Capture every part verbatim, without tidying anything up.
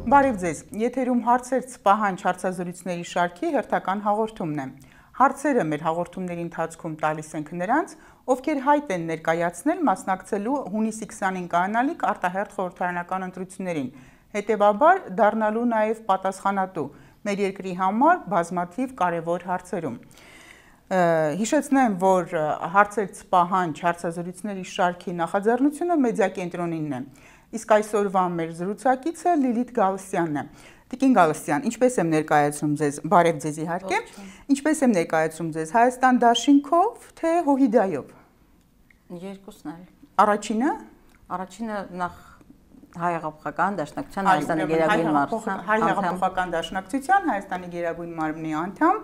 Բարև ձեզ, եթերում հարցեր ծպահանջ հարցազրույցների շարքի հերթական հաղորդումն է։ Հարցերը մեր հաղորդումների ընթացքում տալիս ենք նրանց, ովքեր հայտ են ներկայացնել մասնակցելու հունիսի քսանին կայանալիք արտահերթ խորհրդարանական ընտրություններին, հետևաբար դառնալու նաև պատասխանատու մեր երկրի համար բազմաթիվ կարևոր հարցերում։ Հիշեցնեմ, որ հարցեր ծպահանջ հարցազրույցների շարքի նախաձեռնությունը մեդիա կենտրոնինն է։ Իսկ այսօրվա մեր զրուցակիցը Լիլիթ Գալստյանն է։ Տիկին Գալստյան, ինչպես եմ ներկայացնում ձեզ, բարև ձեզ իհարկե, ինչպես եմ ներկայացնում ձեզ, Հայաստան դաշինքով, թե Հոհիդայով։ Երկուսն էլ։ Առաջինը, Առաջինը նախ Հայ-հեղափոխական դաշնակցության Հայաստանի գերագույն մարմնի Հայ-հեղափոխական դաշնակցության Հայաստանի գերագույն մարմնի անդամ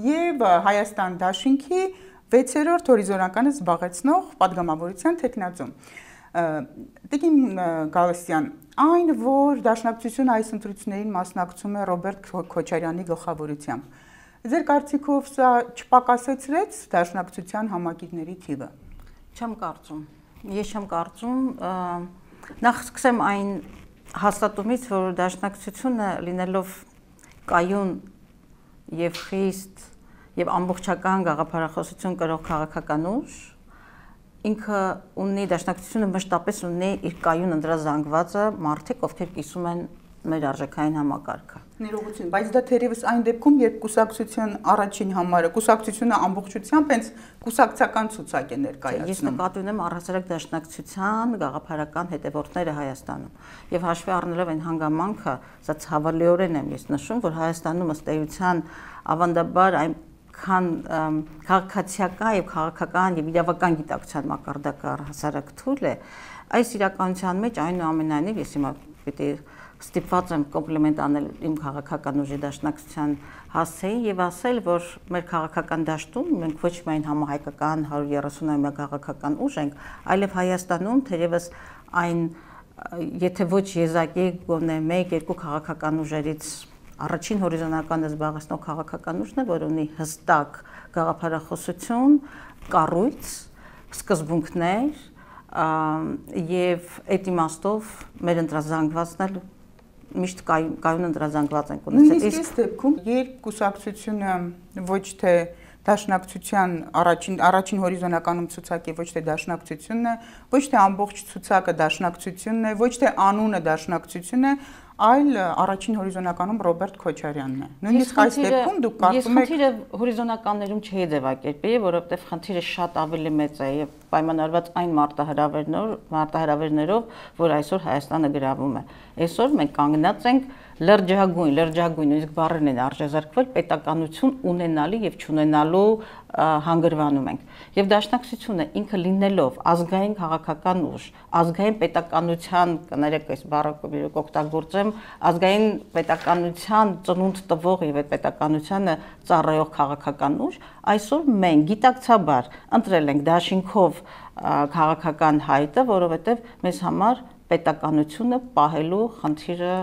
եւ Հայաստան դաշինքի վեցերորդ հորիզոնականը զբաղեցնող падգամավորության թեկնածու։ Տիկին Գալստյան, այն, որ դաշնակցությունը այս ընտրություններին մասնակցում է Ռոբերտ Քոչարյանի գլխավորությամբ, ձեր կարծիքով սա չպակասեցրեց դաշնակցության համակիրների թիվը։ Չեմ կարծում։ Ես չեմ կարծում, նախ սկսեմ այն հաստատումից, որ դաշնակցությունը լինելով կայուն եւ խիստ եւ ամբողջական գաղափարախոսություն կրող քաղաքական ուժ, ինքը ունի դաշնակցությունը մշտապես ունի իր կայուն ընդրազանգվածը մարդիկ, ովքեր կիսում են մեր արժեքային համակարգը։ Ներողություն, բայց դա թերևս այն դեպքում, երբ կուսակցության առաջին համարը, կուսակցությունը ամբողջությամբ հենց կուսակցական ցուցակ է ներկայացնում։ Ես նկատի ունեմ առհասարակ դաշնակցության գաղափարական հետևորդները Հայաստանում։ Եվ հաշվի առնելով այն հանգամանքը, սա ցավալիորեն եմ ես նշում, որ Հայաստանում ըստ էության ավանդաբար այն քան քաղաքացիական եւ քաղաքական եւ իրավական գիտակցության մակարդակը առհասարակ թույլ է, այս իրականության մեջ այնուամենայնիվ ես հիմա պիտի ստիպված եմ կոմպլիմենտ անել իմ քաղաքական ուժի դաշնակցության հասցեին եւ ասել, որ մեր քաղաքական դաշտում մենք ոչ միայն համահայկական հարյուր երեսունամյա քաղաքական ուժ ենք, այլև Հայաստանում թերևս այն եթե ոչ եզակի գոնե մեկ-երկու քաղաքական ուժերից առաջին հորիզոնականը զբաղեցնող քաղաքական ուժն է, որ ունի հստակ գաղափարախոսություն, կառույց, սկզբունքներ եւ այդ իմաստով մեր ընտրազանգվածն էլ միշտ կայուն ընտրազանգված ենք ունեցել։ Իսկ այս դեպքում, երբ կուսակցությունը ոչ թե դաշնակցության առաջին առաջին հորիզոնականում ցուցակի ոչ թե դաշնակցությունն է, ոչ թե ամբողջ ցուցակը դաշնակցությունն է, ոչ թե անունը դաշնակցությունն է, այլ առաջին հորիզոնականում Ռոբերտ Քոչարյանն է։ Նույնիսկ այս դեպքում դուք կարծում եք։ Ես խնդիրը հորիզոնականներում չէի ձևակերպեի, որովհետև խնդիրը շատ ավելի մեծ է եւ պայմանավորված այն մարտահրավերներով, մարտահրավերներով, որ այսօր Հայաստանը գրավում է։ Այսօր մենք կանգնած ենք լրջագույն, լրջագույն, իսկ բառերն են արժեզրկվել պետականություն ունենալու եւ չունենալու հանգրվանում ենք։ Եվ դաշնակցությունը ինքը լինելով ազգային քաղաքական ուժ, ազգային պետականության, կներեք այս բառը օգտագործեմ, ազգային պետականության ծնունդ տվող եւ այդ պետականությանը ծառայող քաղաքական ուժ, այսօր մենք գիտակցաբար ընտրել ենք դաշինքով քաղաքական հայտը, որովհետեւ մեզ համար պետականությունը պահելու խնդիրը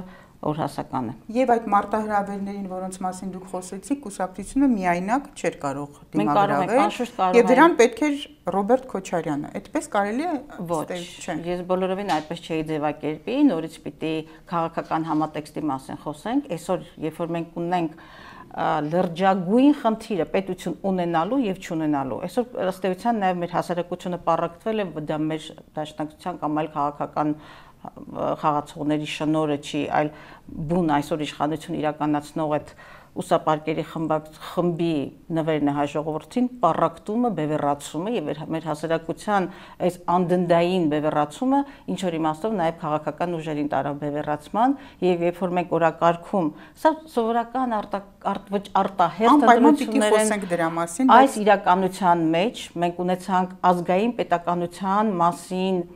օրհասական է։ Եվ այդ մարտահրավերներին, որոնց մասին դուք խոսեցիք, կուսակցությունը միայնակ չէր կարող դիմագրավել, եւ դրան պետք էր Ռոբերտ Քոչարյանը։ Այդպես կարելի է ոչ, ես բոլորովին այդպես չէի ձևակերպի, նորից պիտի քաղաքական համատեքստի մասին խոսենք։ Այսօր, երբ որ մենք ունենք լրջագույն խնդիրը պետություն ունենալու եւ չունենալու, այսօր ըստ էության նաեւ մեր հասարակությունը պառակտվել է, դա մեր դաշնակցության կամ այլ քաղաքական խաղացողների շնորհը չի, այլ բուն այսօր իշխանություն իրականացնող այդ ուսապարկերի խմբի նվերն է հայ ժողովրդին, պառակտումը, բևեռացումը եւ մեր հասարակության այս անդնդային բևեռացումը ինչ որ իմաստով նաեւ քաղաքական ուժերին տարավ բևեռացման եւ երբ որ մենք օրակարգում, սա սովորական ոչ արտահերթ ընտրություններ են, այս իրականության մեջ մենք ունեցանք ազգային պետականության մասին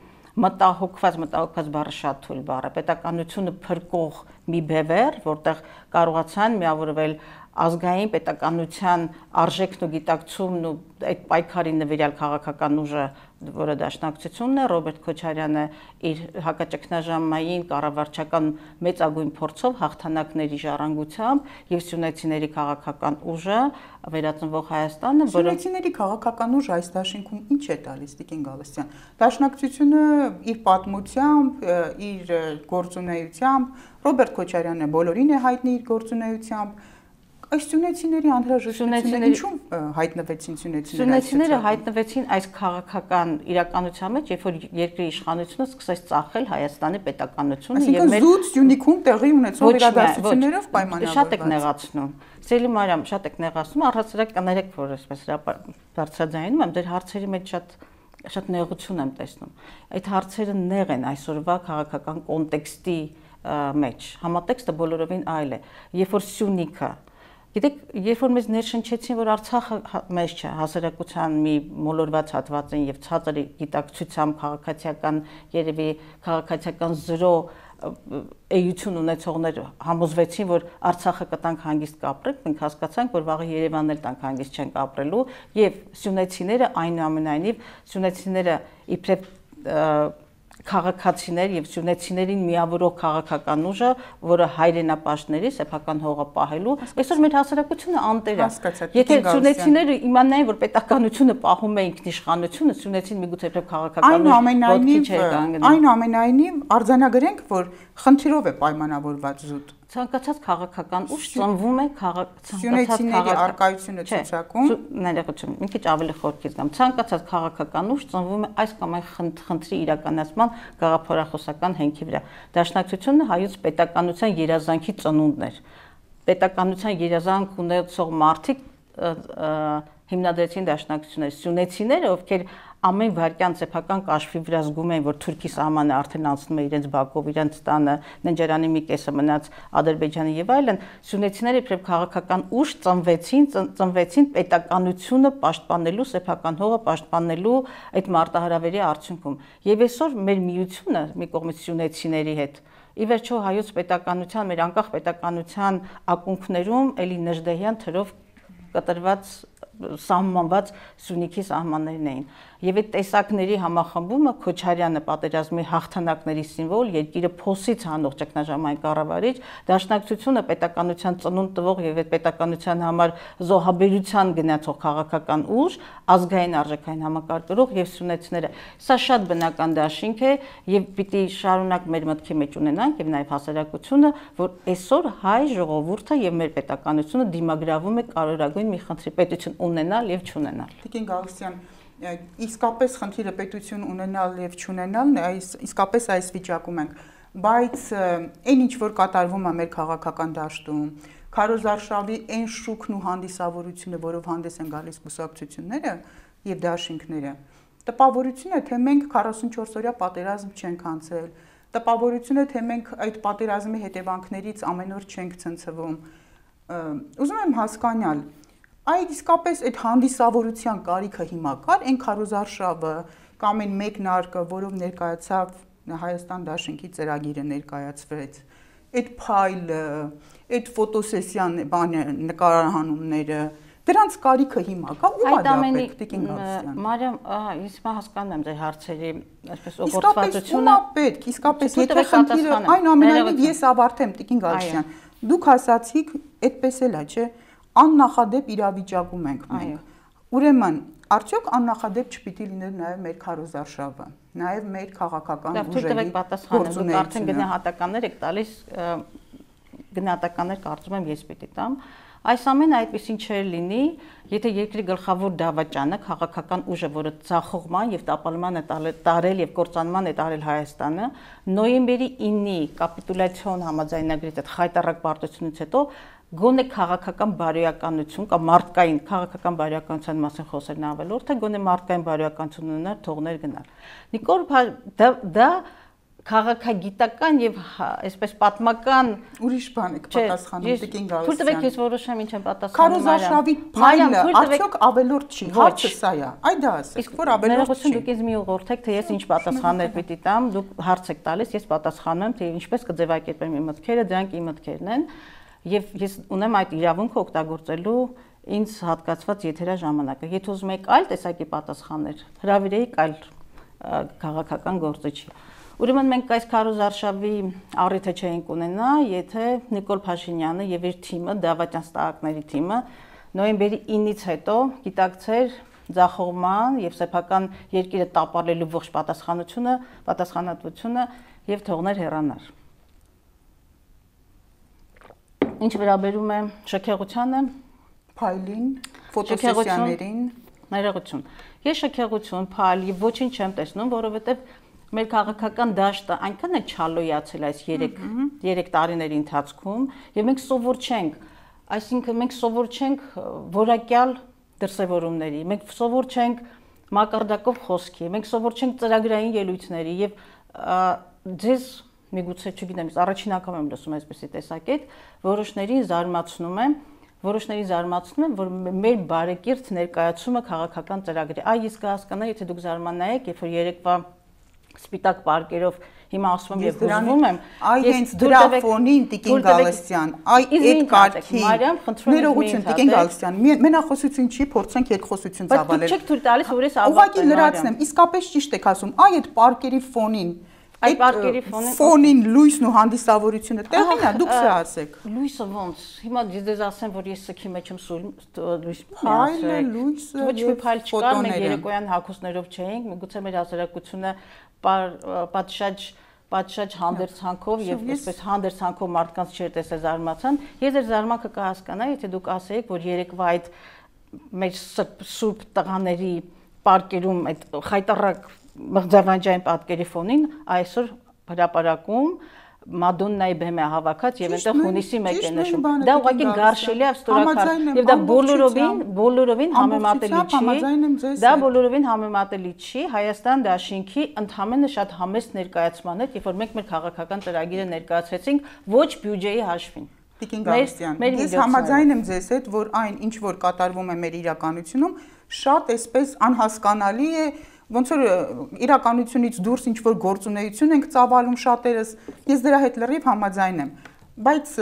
մտահոգված, մտահոգված բառը շատ թույլ բառ է, պետականությունը փրկող մի բևեռ, որտեղ կարողացան միավորվել ազգային պետականության արժեքն ու գիտակցումն ու այդ պայքարի նվիրյալ քաղաքական ուժը, որը դաշնակցությունն է, Ռոբերտ Քոչարյանը իր հակաճգնաժամային կառավարչական մեծագույն փորձով հաղթանակների ժառանգությամբ եւ սյունեցիների քաղաքական ուժը վերածնվող Հայաստանը, որը Սյունեցիների քաղաքական ուժը այս դաշինքում ինչ է տալիս Տիկին Գալստյան։ Դաշնակցությունը իր պատմությամբ, իր գործունեությամբ, Ռոբերտ Քոչարյանը բոլորին է հայտնի իր գործունեությամբ, այս սյունեցիների անհրաժեշտությունը ինչու հայտնվեցին սյունեցիները։ Սյունեցիները հայտնվեցին այս քաղաքական իրականության մեջ, երբ որ երկրի իշխանությունը սկսեց ծախել Հայաստանի պետականությունը եւ մեր զուտ Սյունիքում տեղի ունեցող իրադարձություններով պայմանավորված։ Շատ եք նեղացնում։ Սիրելի Մարիամ, շատ եք նեղացնում, առհասարակ կներեք, որ այսպես բարձրաձայնում եմ, դեր հարցերի մեջ շատ շատ նեղություն եմ տեսնում։ Այդ հարցերը նեղ են այսօրվա քաղաքական կոնտեքստի մեջ։ Համատեքստը բոլորովին այլ է։ Երբ որ Սյունիքը Գիտեք, երբ որ մեզ ներշնչեցին, որ Արցախը մեզ չէ, հասարակության մի մոլորված հատված են եւ ցածր գիտակցությամբ քաղաքացիական երևի քաղաքացիական զրո էություն ունեցողներ համոզվեցին, որ Արցախը կտանք հանգիստ կապրենք, մենք հասկացանք, որ վաղը Երևանն էլ տանք հանգիստ չեն կապրելու եւ սյունեցիները այնուամենայնիվ սյունեցիները իբրև քաղաքացիներ եւ սյունեցիներին միավորող քաղաքական ուժը, որը հայրենապաշտների սեփական հողը պահելու, այսօր մեր հասարակությունը անտեր է։ Եթե սյունեցիները իմանային, որ պետականությունը պահում է ինքնիշխանությունը, սյունեցին միգուցե իբրև քաղաքական ուժ այնուամենայնիվ արձանագրենք, որ խնդիրով է պայմանավորված զուտ։ Ցանկացած քաղաքական ուժ ծնվում է սյունեցիների արկայությունը ցուցակում։ Ներողություն, մի քիչ ավելի խորքից գամ։ Ցանկացած քաղաքական ուժ ծնվում է այս կամ այն խնդրի իրականացման գաղափարախոսական հենքի վրա։ Դաշնակցությունը հայոց պետականության երազանքի ծնունդն էր։ Պետականության երազանք ունեցող մարդիկ հիմնադրեցին դաշնակցությունները, սյունեցիները, ովքեր ամեն վարքյան սեփական կաշվի վրա զգում էին, որ Թուրքի սահմանը արդեն անցնում է իրենց բակով, իրենց տանը, Ննջարանի մի կեսը մնաց Ադրբեջանի եւ այլն, սյունեցիները իբրև քաղաքական ուժ ծնվեցին, ծնվեցին պետականությունը պաշտպանելու, սեփական հողը պաշտպանելու այդ մարտահրավերի արդյունքում։ Եվ այսօր մեր միությունը մի կողմից սյունեցիների հետ ի վերջո հայոց պետականության, մեր անկախ պետականության ակունքներում էլի Նժդեհյան թրով կտրված սահմանված Սյունիքի սահմաններն էին։ Եվ այդ տեսակների համախմբումը Քոչարյանը պատերազմի հաղթանակների սիմվոլ, երկիրը փոսից հանող ճգնաժամային կառավարիչ, դաշնակցությունը պետականության ծնունդ տվող եւ այդ պետականության համար զոհաբերության գնացող քաղաքական ուժ, ազգային արժեքային համակարգող եւ սյունեցիները։ Սա շատ բնական դաշինք է եւ պիտի շարունակ մեր մտքի մեջ ունենանք եւ նաեւ հասարակությունը, որ այսօր հայ ժողովուրդը եւ մեր պետականությունը դիմագրավում է կարևորագույն մի խնդրի՝ պետություն ունենալ եւ չունենալ։ Տիկին Գալստյան, իսկապես խնդիրը պետություն ունենալ եւ չունենալն է, այս իսկապես այս վիճակում ենք, բայց այն ինչ որ կատարվում է մեր քաղաքական դաշտում, քարոզարշավի այն շուկն ու հանդիսավորությունը, որով հանդես են գալիս կուսակցությունները եւ դաշինքները, տպավորություն է, թե մենք քառասունչորս օրյա պատերազմ չենք անցել, տպավորություն է, թե մենք այդ պատերազմի հետևանքներից ամեն օր չենք ցնցվում։ Ուզում եմ հասկանալ, այդ իսկապես այդ հանդիսավորության կարիքը հիմա կար, այն քարոզարշավը կամ այն մեկնարկը, որով ներկայացավ Հայաստան դաշինքի ծրագիրը ներկայացվեց, այդ փայլը, այդ ֆոտոսեսիան բանը նկարահանումները, դրանց կարիքը հիմա կա, ո՞ւմ է դա պետք, Տիկին Գալստյան։ Մարիամ, ես հիմա հասկանում եմ ձեր հարցերի այսպես օգտվածությունը։ Իսկապես ո՞ւմ է պետք, իսկապես եթե խնդիրը այնուամենայնիվ ես ավարտեմ, Տիկին Գալստյան, դուք ասացիք, այդպես էլ է, չէ՞, աննախադեպ իրավիճակում ենք մենք։ Ուրեմն, արդյոք աննախադեպ չպիտի լիներ նաև մեր քարոզարշավը, նաև մեր քաղաքական ուժերի գործունեությունը։ Դուք արդեն գնահատականներ եք տալիս, գնահատականներ կարծում եմ ես պիտի տամ։ Այս ամենը այդպեսին չէր լինի, եթե երկրի գլխավոր դավաճանը, քաղաքական ուժը, որը ցախողման եւ տապալման է տարել եւ կործանման է տարել Հայաստանը, նոյեմբերի ինի կապիտուլյացիոն համաձայնագրից այդ խայտառակ պարտությունից հետո գոնե քաղաքական բարոյականություն կամ մարդկային քաղաքական բարոյականության մասին խոսելն ավելորդ, թե գոնե մարդկային բարոյականություն ունենալ, թողներ գնալ։ Նիկոլ դա դա քաղաքագիտական եւ այսպես պատմական ուրիշ բան եք պատասխանում, Տիկին Գալստյան։ Թույլ տվեք ես որոշեմ ինչ եմ պատասխանում։ Քարոզարշավի փայլը արդյոք ավելորդ չի, հարցը սա է։ Այ դա ասեք, որ ավելորդ չի։ Դուք ինձ մի ուղղորդեք, թե ես ինչ պատասխաններ պիտի տամ, դուք հարց եք տալիս, ես պատասխանում եմ, թե ինչպես կձևակերպեմ իմ մտքերը, դրանք իմ մտքերն են։ եւ ես ունեմ այդ իրավունքը օգտագործելու ինձ հատկացված եթերաժամանակը։ Եթե ուզում եք այլ տեսակի պատասխաններ, հրավիրեիք այլ քաղաքական գործիչի։ Ուրեմն մենք այս քարոզարշավի առիթը չէինք ունենա, եթե Նիկոլ Փաշինյանը եւ իր թիմը, դավաճանստահակների թիմը նոյեմբերի ինից հետո գիտակցեր ձախողման եւ սեփական երկիրը տապալելու ողջ պատասխանությունը, պատասխանատվությունը եւ թողներ հեռանար։ Ինչ վերաբերում է շքեղությանը, փայլին, ֆոտոսեսիաներին, ներողություն։ Ես շքեղություն, փայլ եւ ոչինչ չեմ տեսնում, որովհետեւ մեր քաղաքական դաշտը այնքան է չալոյացել այս երեք տարիների ընթացքում եւ մենք սովոր չենք, այսինքն մենք սովոր չենք որակյալ դրսևորումների, մենք սովոր չենք մակարդակով խոսքի, մենք սովոր չենք ծրագրային ելույթների եւ ձեզ միգուցե չգիտեմ, առաջին անգամ եմ լսում այսպեսի տեսակետ, որոշներին զարմացնում է, որոշներին զարմացնում է, որ մեր բարեկիրթ ներկայացումը քաղաքական ծրագրի։ Այ ես կհասկանայի, եթե դուք զարմանայիք, երբ որ երեկվա սպիտակ պարկերով հիմա ասում եմ եւ հուզվում եմ, այ հենց դրա ֆոնին Տիկին Գալստյան, այ այդ կարգի ներողություն Տիկին Գալստյան, մենախոսություն չի, փորձենք երկխոսություն ծավալել։ Բայց դուք չեք թույլ տալիս, որ ես ավարտեմ։ Ուղղակի լրացնեմ, իսկապես ճիշտ եք ասում, այ այդ պարկերի ֆոնին, այդ պարկերի ֆոնին ֆոնին լույսն ու հանդիսավորությունը տեղին է, դուք սա ասեք։ Լույսը ոնց։ Հիմա ես ասեմ, որ ես սքի մեջ եմ սուր լույս փայլը, լույսը, ոչ մի փայլ չկար, մենք երեկոյան հագուստներով չէինք, միգուցե մեր հասարակությունը պատշաճ պատշաճ հանդերձանքով եւ այսպես հանդերձանքով մարդկանց չէր տեսել զարմացան։ Ես ձեր զարմանքը կհասկանայի, եթե դուք ասեիք, որ երեկվա այդ մեր սուրբ տղաների պարկերում այդ խայտարակ մղձավանջային պատկերի ֆոնին այսօր հրապարակում Մադոննայի բեմ է հավաքած եւ այնտեղ հունիսի մեկ է նշում։ Դա ուղղակի գարշելի է ստորակար եւ դա բոլորովին բոլորովին համեմատելի չի։ Դա բոլորովին համեմատելի չի Հայաստան դաշինքի ընդհանրապես շատ համեստ ներկայացման հետ, երբ որ մենք մեր քաղաքական ծրագիրը ներկայացրեցինք ոչ բյուջեի հաշվին։ Տիկին Գալստյան, ես համաձայն եմ ձեզ հետ, որ այն ինչ որ կատարվում է մեր իրականությունում, շատ այսպես անհասկանալի է, ոնց որ իրականությունից դուրս ինչ որ գործունեություն ենք ծավալում շատերս, ես դրա հետ լրիվ համաձայն եմ, բայց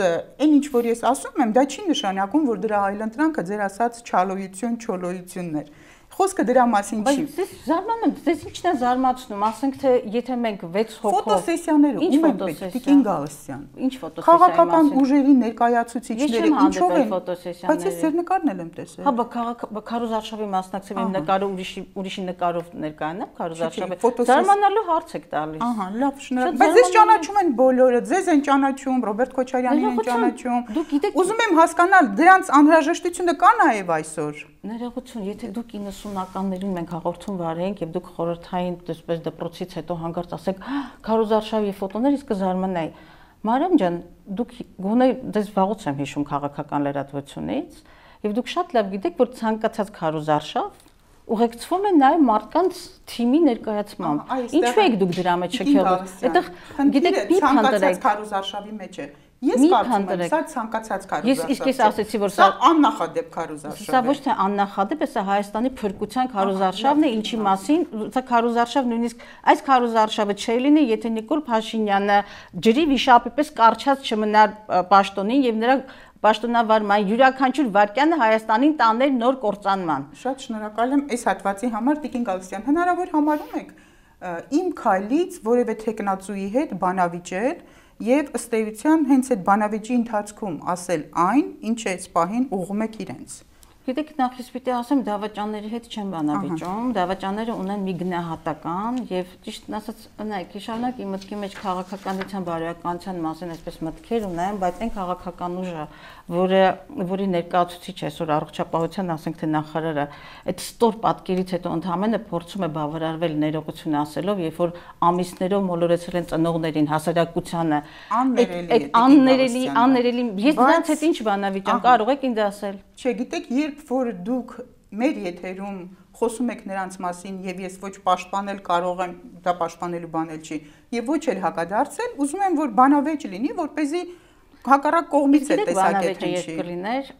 այն ինչ որ ես ասում եմ, դա չի նշանակում, որ դրա այլընտրանքը ձեր ասած չալոյություն, չոլոյությունն էր։ Խոսքը դրա մասին չի։ Բայց ես զարմանում եմ, ձեզ ինչն է զարմացնում, ասենք թե եթե մենք վեց հոգով ֆոտոսեսիաները ում են պետք, Տիկին Գալստյան։ Ինչ ֆոտոսեսիա։ Քաղաքական ուժերի ներկայացուցիչները ինչով են ֆոտոսեսիաները։ Բայց ես ձեր նկարն եմ տեսել։ Հա, բա Քարոզարշավի մասնակցեմ, իմ նկարը ուրիշի ուրիշի նկարով ներկայանա Քարոզարշավի։ Զարմանալու հարց եք տալիս։ Ահա, լավ, շնորհակալ։ Բայց ձեզ ճանաչում են բոլորը, ձեզ են ճանաչում, Ռոբերտ Քոչարյանին են ճանաչում։ Ուզում եմ հասկանալ, դրանց անհրաժեշտությունը կա նաև այսօր։ Ներողություն, եթե դուք իննսունականներին մենք հաղորդում վարենք եւ դուք խորհրդային դեսպես դպրոցից հետո հանգարց ասեք Քարոզարշավի ֆոտոներ, իսկ կզարմանայի։ Մարիամ ջան, դուք գոնե դες վաղուց եմ հիշում քաղաքական լրատվությունից եւ դուք շատ լավ գիտեք, որ ցանկացած Քարոզարշավ ուղեկցվում է նաեւ մարդկանց թիմի ներկայացմամբ։ Ինչու եք դուք դրա մեջ չքեղում։ Այդտեղ գիտեք, մի քանդրեք Քարոզարշավի մեջ է։ Ես կարծում եմ, սա ցանկացած քարոզարշավ։ Ես իսկ ես ասեցի, որ սա աննախադեպ քարոզարշավ է։ Սա ոչ թե աննախադեպ է, սա Հայաստանի փրկության քարոզարշավն է, ինչի մասին, սա քարոզարշավ նույնիսկ այս քարոզարշավը չէ լինի, եթե Նիկոլ Փաշինյանը ջրի վիշապի պես կարճած չմնար պաշտոնին եւ նրա պաշտոնավարման յուրաքանչյուր վարքյանը Հայաստանին տաներ նոր կործանման։ Շատ շնորհակալ եմ այս հատվածի համար, Տիկին Գալստյան։ Հնարավոր համարում եք իմ քայլից որևէ տեխնացուի հետ բանավիճել եւ ըստ էության հենց այդ բանավիճի ընթացքում ասել այն, ինչ է սպահին ուղղում եք իրենց։ Գիտեք, նախ ես պիտի ասեմ, դավաճանների հետ չեմ բանավիճում, դավաճանները ունեն մի գնահատական եւ ճիշտն ասած, նայեք, շարունակ իմ մտքի մեջ քաղաքականության բարոյականության մասին այսպես մտքեր ունեմ, բայց այն քաղաքական ուժը, որը որի ներկայացուցիչ այսօր առողջապահության, ասենք թե նախարարը, այդ ստոր պատկերից հետո ընդհանրապես փորձում է բավարարվել ներողություն ասելով, երբ որ ամիսներով մոլորեցրել են ծնողներին, հասարակությանը, այդ աններելի, աններելի, ես դրանց հետ ինչ բանավիճեմ, կարող եք ինձ ասել։ Չէ, գիտեք, երբ որ դուք մեր եթերում խոսում եք նրանց մասին եւ ես ոչ պաշտպանել կարող եմ, դա պաշտպանելու բան էլ չի, եւ ոչ էլ հակադարձել, ուզում եմ որ բանավեճ լինի, որպեսզի հակառակ կողմից է տեսակետ հնչի։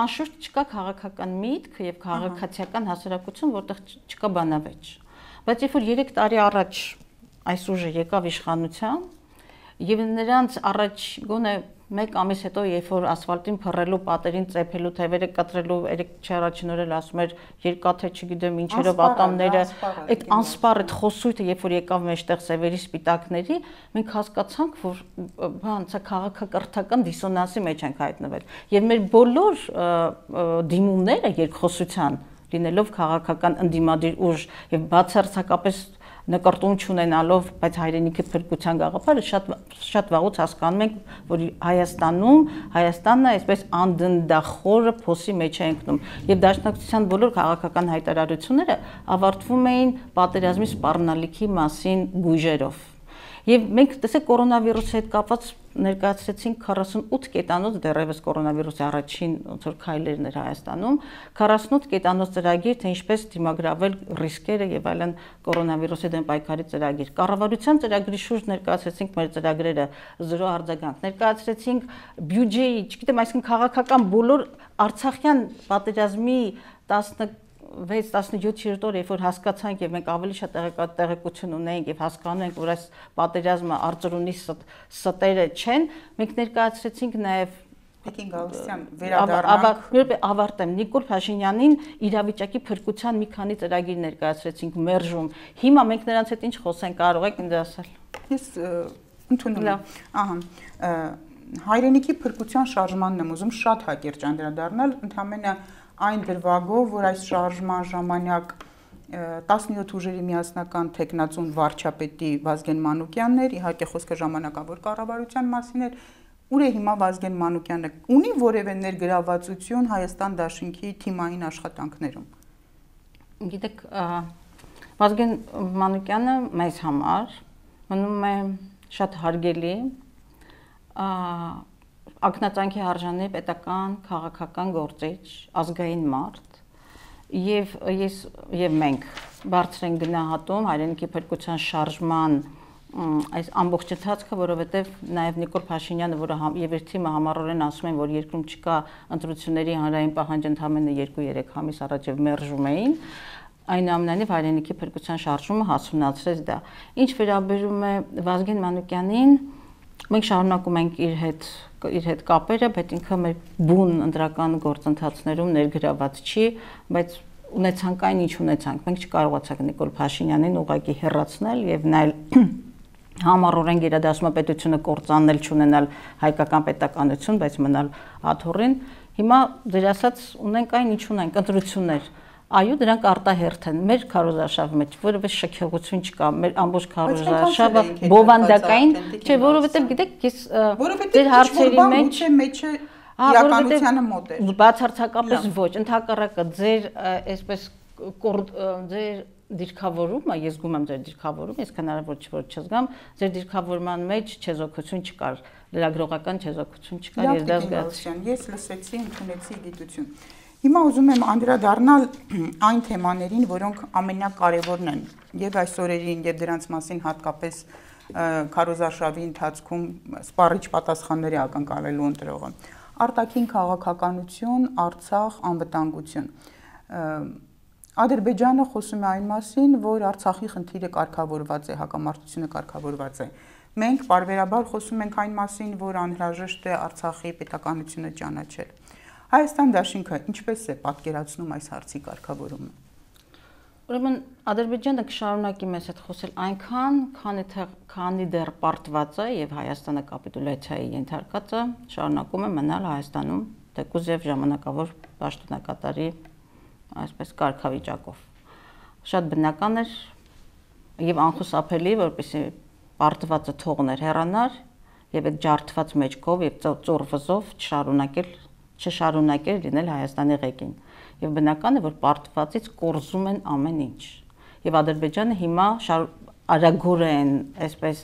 Անշուշտ չկա քաղաքական միտք եւ քաղաքացիական հասարակություն, որտեղ չկա բանավեճ։ Բայց երբ որ երեք տարի առաջ այս ուժը եկավ իշխանության եւ նրանց առաջ գոնե մեկ ամիս հետո, երբ որ ասֆալտին փռելու, պատերին ծեփելու, թևերը կտրելու, երեք չառաջին օրել ասում էր երկաթե, չգիտեմ, ինչերով ատամները, այդ անսպառ այդ խոսույթը, երբ որ եկավ մեջտեղ սևերի սպիտակների, մենք հասկացանք, որ բան, սա քաղաքակրթական դիսոնանսի մեջ ենք հայտնվել։ Եվ մեր բոլոր դիմումները երկխոսության, լինելով քաղաքական ընդդիմադիր ուժ եւ բացարձակապես նկարտում չունենալով, բայց հայրենիքի փրկության գաղափարը շատ շատ վաղուց հասկանում ենք, որ Հայաստանում Հայաստանն է այսպես անդնդախորը փոսի մեջ է ընկնում եւ դաշնակցության բոլոր քաղաքական հայտարարությունները ավարտվում էին պատերազմի սպառնալիքի մասին գույժերով։ Եվ մենք տեսեք կորոնավիրուսի հետ կապված ներկայացրեցինք քառասունութ կետանոց դեռևս կորոնավիրուսի առաջին ոնց որ քայլերն էր Հայաստանում, քառասունութ կետանոց ծրագիր, թե ինչպես դիմագրավել ռիսկերը եւ այլն կորոնավիրուսի դեմ պայքարի ծրագիր։ Կառավարության ծրագրի շուրջ ներկայացրեցինք մեր ծրագրերը զրո արձագանք, ներկայացրեցինք բյուջեի, չգիտեմ, այսինքն քաղաքական բոլոր Արցախյան պատերազմի տասնվեց տասնյոթ օր, երբ որ հասկացանք եւ մենք ավելի շատ տեղեկություն ունենք եւ հասկանում ենք, որ այս պատերազմը արծրունի ստերը չեն, մենք ներկայացրեցինք նաեւ Տիկին Գալստյան վերադառնանք։ Աբա ավարտեմ Նիկոլ Փաշինյանին իրավիճակի փրկության մի քանի ծրագիր ներկայացրեցինք մերժում։ Հիմա մենք նրանց հետ ինչ խոսենք, կարող եք ինձ ասել։ Ես ընդունում եմ։ Ահա հայրենիքի փրկության շարժմանն եմ ուզում շատ հակիրճ անդրադառնալ, ընդհանրապես այն դրվագով, որ այս շարժման ժամանակ տասնյոթ ուժերի միասնական թեկնածուն վարչապետի Վազգեն Մանուկյանն էր, իհարկե խոսքը ժամանակավոր կառավարության մասին էր, ուր է հիմա Վազգեն Մանուկյանը, ունի որևէ ներգրավվածություն Հայաստան դաշինքի թիմային աշխատանքներում։ Գիտեք, Վազգեն Մանուկյանը մեզ համար մնում է շատ հարգելի, ակնածանքի արժանի պետական քաղաքական գործիչ, ազգային մարդ եւ ես եւ մենք բարձր են գնահատում հայրենիքի փրկության շարժման այս ամբողջ ընթացքը, որովհետեւ նաեւ Նիկոլ Փաշինյանը, որը եւ իր թիմը համառորեն ասում են, որ երկրում չկա ընտրությունների հանրային պահանջ ընդամենը երկու երեք ամիս առաջ եւ մերժում էին, այնուամենայնիվ հայրենիքի փրկության շարժումը հասունացրեց դա։ Ինչ վերաբերում է Վազգեն Մանուկյանին, մենք շարունակում ենք իր հետ իր հետ կապերը, բայց ինքը մեր բուն ընտրական գործընթացներում ներգրաված չի, բայց ունեցանք այն ինչ ունեցանք։ Մենք չկարողացանք Նիկոլ Փաշինյանին ուղղակի հեռացնել եւ նայել համառորեն գերադասմապետությունը կործանել, չունենալ հայկական պետականություն, բայց մնալ աթոռին։ Հիմա դեր ասած ունենք այն ինչ ունենք, ընտրություններ։ Այո, դրանք արտահերթ են մեր քարոզարշավի մեջ, որովհետեւ շքեղություն չկա, մեր ամբողջ քարոզարշավը բովանդակային, չէ, որովհետեւ գիտեք, ես դեր հարցերի մեջ մեջը իրականությանը մոտ է։ Բացարձակապես ոչ, ընդհակառակը ձեր այսպես ձեր դիրքավորումը, ես զգում եմ ձեր դիրքավորումը, ես հնարավոր չէ որ չզգամ, ձեր դիրքավորման մեջ չեզոքություն չկար, լրագրողական չեզոքություն չկար, ես դա զգացի։ Ես լսեցի, ընդունեցի գիտություն։ Հիմա ուզում եմ անդրադառնալ այն թեմաներին, որոնք ամենակարևորն են եւ այս օրերին եւ դրանց մասին հատկապես քարոզարշավի ընթացքում սպառիչ պատասխանների ակնկալելու ընտրողը։ Արտաքին քաղաքականություն, Արցախ, անվտանգություն։ Ադրբեջանը խոսում է այն մասին, որ Արցախի խնդիրը կարգավորված է, հակամարտությունը կարգավորված է։ Մենք բարբերաբար խոսում ենք այն մասին, որ անհրաժեշտ է Արցախի պետականությունը ճանաչել։ Հայաստան դաշինքը ինչպես է պատկերացնում այս հարցի կարգավորումը։ Ուրեմն Ադրբեջանը կշարունակի մեզ հետ խոսել այնքան, քանի քանի դեռ պարտված է եւ Հայաստանը կապիտուլյացիայի ենթարկած է, շարունակում է մնալ Հայաստանում, թեկուզ եւ ժամանակավոր պաշտոնակատարի այսպես կարգավիճակով։ Շատ բնական էր եւ անխուսափելի, որպեսզի պարտվածը թողներ հեռանար եւ այդ ջարդված մեջքով եւ ծոր վզով չշարունակել չշարունակել լինել Հայաստանի ղեկին։ Եվ բնական է, որ պարտվածից կորզում են ամեն ինչ։ Եվ Ադրբեջանը հիմա արագորեն, այսպես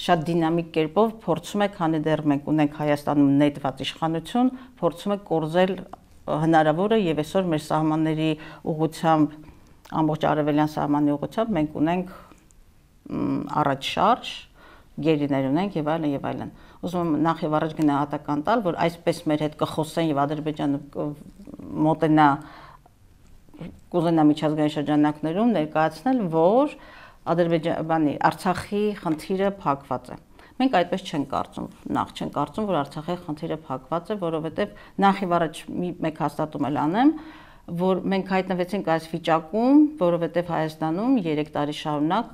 շատ դինամիկ կերպով փորձում է, քանի դեռ մենք ունենք Հայաստանում նետված իշխանություն, փորձում է կորզել հնարավորը եւ այսօր մեր սահմանների ուղղությամբ, ամբողջ արևելյան սահմանի ուղղությամբ մենք ունենք առաջ շարժ, գերիներ ունենք եւ այլն եւ այլն։ Ուզում եմ նախ եւ առաջ գնահատական տալ, որ այսպես մեր հետ կխոսեն եւ Ադրբեջանը մոտենա կուզենա միջազգային շրջանակներում ներկայացնել, որ Ադրբեջանի Արցախի խնդիրը փակված է։ Մենք այդպես չենք կարծում, նախ չենք կարծում, որ Արցախի խնդիրը փակված է, որովհետև նախ եւ առաջ մեկ հաստատում էլ անեմ, որ մենք հայտնվեցինք այս վիճակում, որովհետև Հայաստանում երեք տարի շարունակ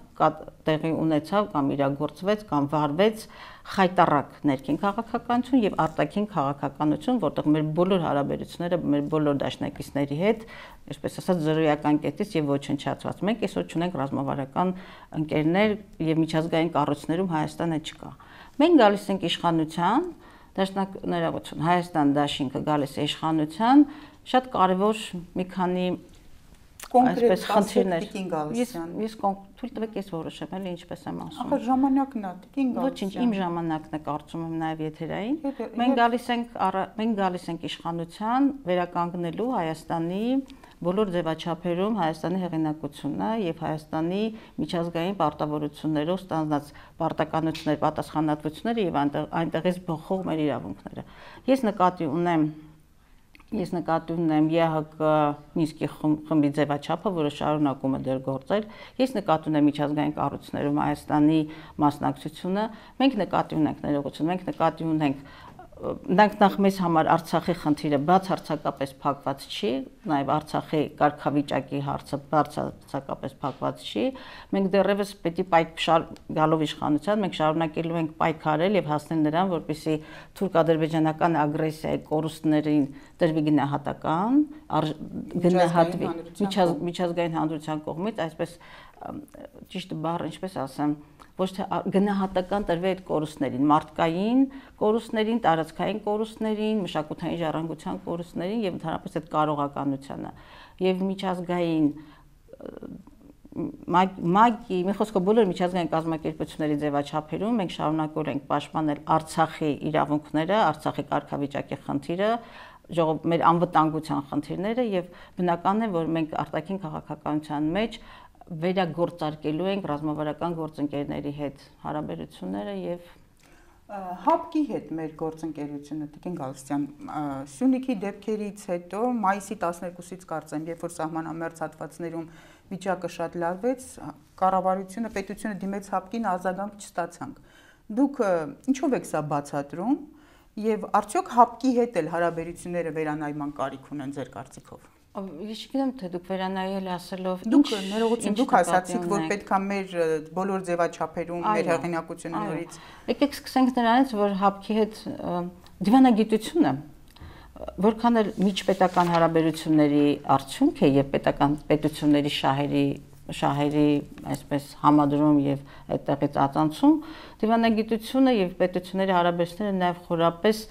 տեղի ունեցավ կամ իրագործվեց կամ վարվեց խայտառակ ներքին քաղաքականություն եւ արտաքին քաղաքականություն, որտեղ մեր բոլոր հարաբերությունները մեր բոլոր դաշնակիցների հետ, այսպես ասած, զրոյական կետից եւ ոչնչացված։ Մենք այսօր ունենք ռազմավարական ընկերներ եւ միջազգային կառույցներում Հայաստանը չկա։ Մենք գալիս ենք իշխանության, դաշնակներություն Հայաստան դաշինքը գալիս է իշխանության, շատ կարևոր մի քանի կոնկրետ խնդիրներ։ Ես ես թույլ տվեք ես որոշեմ, էլի ինչպես եմ ասում։ Ախր ժամանակն է, Տիկին Գալստյան։ Ոչինչ, իմ ժամանակն է, կարծում եմ նաև եթերային։ Մենք գալիս ենք մենք գալիս ենք իշխանության վերականգնելու Հայաստանի բոլոր ձևաչափերում Հայաստանի հեղինակությունը եւ Հայաստանի միջազգային պարտավորություններով ստանձնած պարտականություններ, պատասխանատվությունները եւ այնտեղից բխող մեր իրավունքները։ Ես նկատի ունեմ Ես նկատի ունեմ ԵՀԿ Մինսկի խմբի ձևաչափը, որը շարունակում է դեռ գործել։ Ես նկատի ունեմ միջազգային կառույցներում Հայաստանի մասնակցությունը։ Մենք նկատի ունենք ներողություն, մենք նկատի ունենք նախ մեզ համար Արցախի խնդիրը բացարձակապես փակված չի, նաև Արցախի կարգավիճակի հարցը բացարձակապես փակված չի։ Մենք դեռևս պետք է գալով իշխանության, մենք շարունակելու ենք պայքարել եւ հասնել նրան, որպեսզի թուրք-ադրբեջանական ագրեսիայի կորուստներին տրվի գնահատական, գնահատվի միջազգային հանրության կողմից, այսպես ճիշտ բառը ինչպես ասեմ, ոչ թե գնահատական տրվի այդ կորուստներին, մարդկային կորուստներին, տարածքային կորուստներին, մշակութային ժառանգության կորուստներին եւ ընդհանրապես այդ կարողականությանը եւ միջազգային մագի, մի խոսքով բոլոր միջազգային կազմակերպությունների ձևաչափերում մենք շարունակել ենք պաշտպանել Արցախի իրավունքները, Արցախի կարգավիճակի խնդիրը, ժողով մեր անվտանգության խնդիրները եւ բնական է, որ մենք արտաքին քաղաքականության մեջ վերագործարկելու ենք ռազմավարական գործընկերների հետ հարաբերությունները եւ ՀԱՊԿ-ի հետ մեր գործընկերությունը, Տիկին Գալստյան, Սյունիքի դեպքերից հետո մայիսի տասներկուսից կարծեմ, երբ որ սահմանամերձ հատվածներում վիճակը շատ լարվեց, կառավարությունը, պետությունը դիմեց ՀԱՊԿ-ին, արձագանք չստացանք։ Դուք ինչով եք սա բացատրում եւ արդյոք ՀԱՊԿ-ի հետ էլ հարաբերությունները վերանայման կարիք ունեն ձեր կարծիքով։ Ես չգիտեմ, թե դուք վերանայել ասելով դուք ներողություն դուք ասացիք, որ պետք է մեր բոլոր ձևաչափերում մեր հեղինակությունը նորից։ Եկեք սկսենք նրանից, որ ՀԱՊԿ-ի հետ դիվանագիտությունը որքան էլ միջպետական հարաբերությունների արդյունք է եւ պետական պետությունների շահերի շահերի այսպես համադրում եւ այդտեղից ածանցում, դիվանագիտությունը եւ պետությունների հարաբերությունները նաեւ խորապես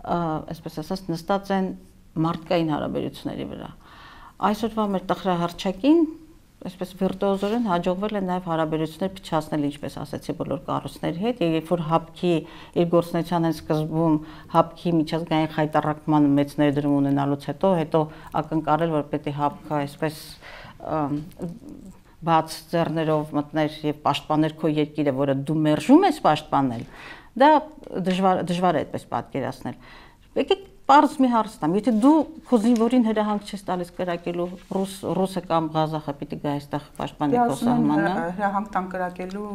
այսպես ասած նստած են մարդկային հարաբերությունների վրա։ Այսօրվա մեր տխրահարճակին, այսպես վիրտուոզորեն հաջողվել է նաև հարաբերություններ փչացնել, ինչպես ասացի, բոլոր կառույցների հետ, եւ երբ որ ՀԱՊԿ-ի իր գործունեության են սկզբում ՀԱՊԿ-ի միջազգային խայտառակման մեծ ներդրում ունենալուց հետո, հետո ակնկալել, որ պետք է ՀԱՊԿ-ը այսպես բաց ձեռներով մտներ եւ պաշտպաներ քո երկիրը, որը դու մերժում ես պաշտպանել, դա դժվար դժվար է այդպես պատկերացնել։ Եկեք Պարզ մի հարց տամ, եթե դու քո զինվորին հրահանգ չես տալիս կրակելու ռուս ռուսը կամ ղազախը պիտի գա այստեղ պաշտպանի քո սահմանը։ Հրահանգ տան կրակելու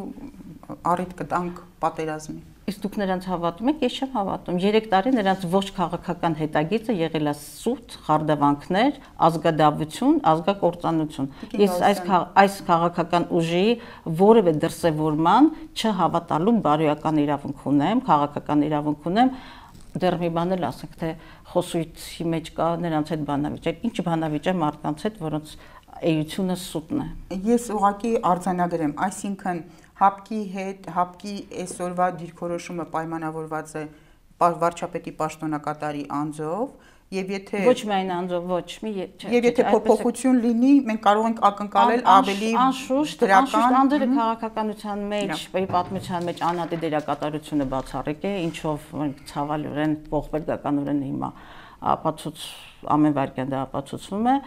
առիթ կտանք պատերազմի։ Իսկ դուք նրանց հավատում եք, ես չեմ հավատում։ երեք տարի նրանց ողջ քաղաքական հետագիծը եղել է սուտ, խարդավանքներ, ազգադավություն, ազգակործանություն։ Ես այս այս քաղաքական ուժի որևէ դրսևորման չհավատալու բարոյական իրավունք ունեմ, քաղաքական իրավունք ունեմ։ Դեռ մի բան էլ ասենք, թե խոսույցի մեջ կա նրանց հետ բանավիճակ, ինչ բանավիճակ մարդկանց հետ, որոնց էությունը սուտն է։ Ես ուղղակի արձանագրեմ, այսինքն ՀԱՊԿ-ի հետ, ՀԱՊԿ-ի այսօրվա դիրքորոշումը պայմանավորված է վարչապետի պաշտոնակատարի անձով, եւ եթե ոչ միայն անձով, ոչ մի եւ եթե փոփոխություն լինի, մենք կարող ենք ակնկալել ավելի անշուշտ անշուշտ անդրը քաղաքականության մեջ, պատմության մեջ անհատի դերակատարությունը բացառիկ է, ինչով մենք ցավալիորեն ողբերգականորեն հիմա ապացույց ամեն վարքյան դա ապացուցվում է,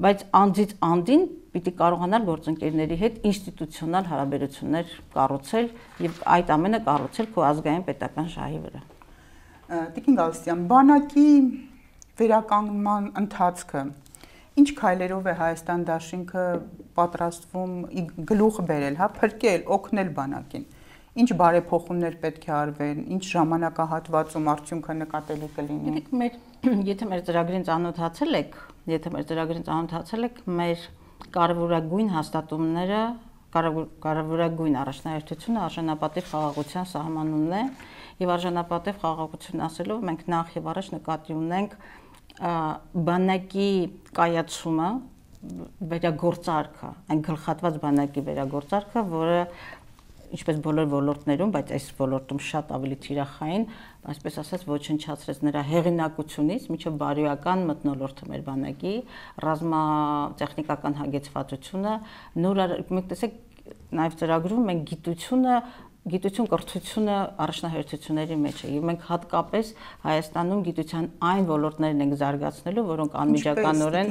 բայց անձից անդին պիտի կարողանալ գործընկերների հետ ինստիտուցիոնալ հարաբերություններ կառուցել եւ այդ ամենը կառուցել քո ազգային պետական շահի վրա։ Տիկին Գալստյան, բանակի վերականգնման ընթացքը ինչ քայլերով է Հայաստան դաշինքը պատրաստվում գլուխ բերել, հա, փրկել, օգնել բանակին։ ինչ բարեփոխումներ պետք է արվեն, ինչ ժամանակահատվածում արդյունքը նկատելի կլինի։ Գիտեք, մեր եթե մեր ծրագրին ծանոթացել եք, եթե մեր ծրագրին ծանոթացել եք, մեր կարևորագույն հաստատումները, կարևորագույն առաջնահերթությունը արժանապատիվ խաղաղության սահմանումն է, եւ արժանապատիվ խաղաղություն ասելով մենք նախ եւ առաջ նկատի ունենք բանակի կայացումը, վերագործարկը, այն գլխատված բանակի վերագործարկը, որը ինչպես բոլոր ոլորտներում, բայց այս ոլորտում շատ ավելի թիրախային, այսպես ասած ոչնչացրեց նրա հեղինակությունից մինչև բարոյական մթնոլորտը մեր բանակի, ռազմատեխնիկական հագեցվածությունը, նոր մենք տեսեք նաև ծրագրում մենք գիտությունը գիտություն կրթությունը առաջնահերթությունների մեջ է եւ մենք հատկապես Հայաստանում գիտության այն ոլորտներն ենք զարգացնելու, որոնք անմիջականորեն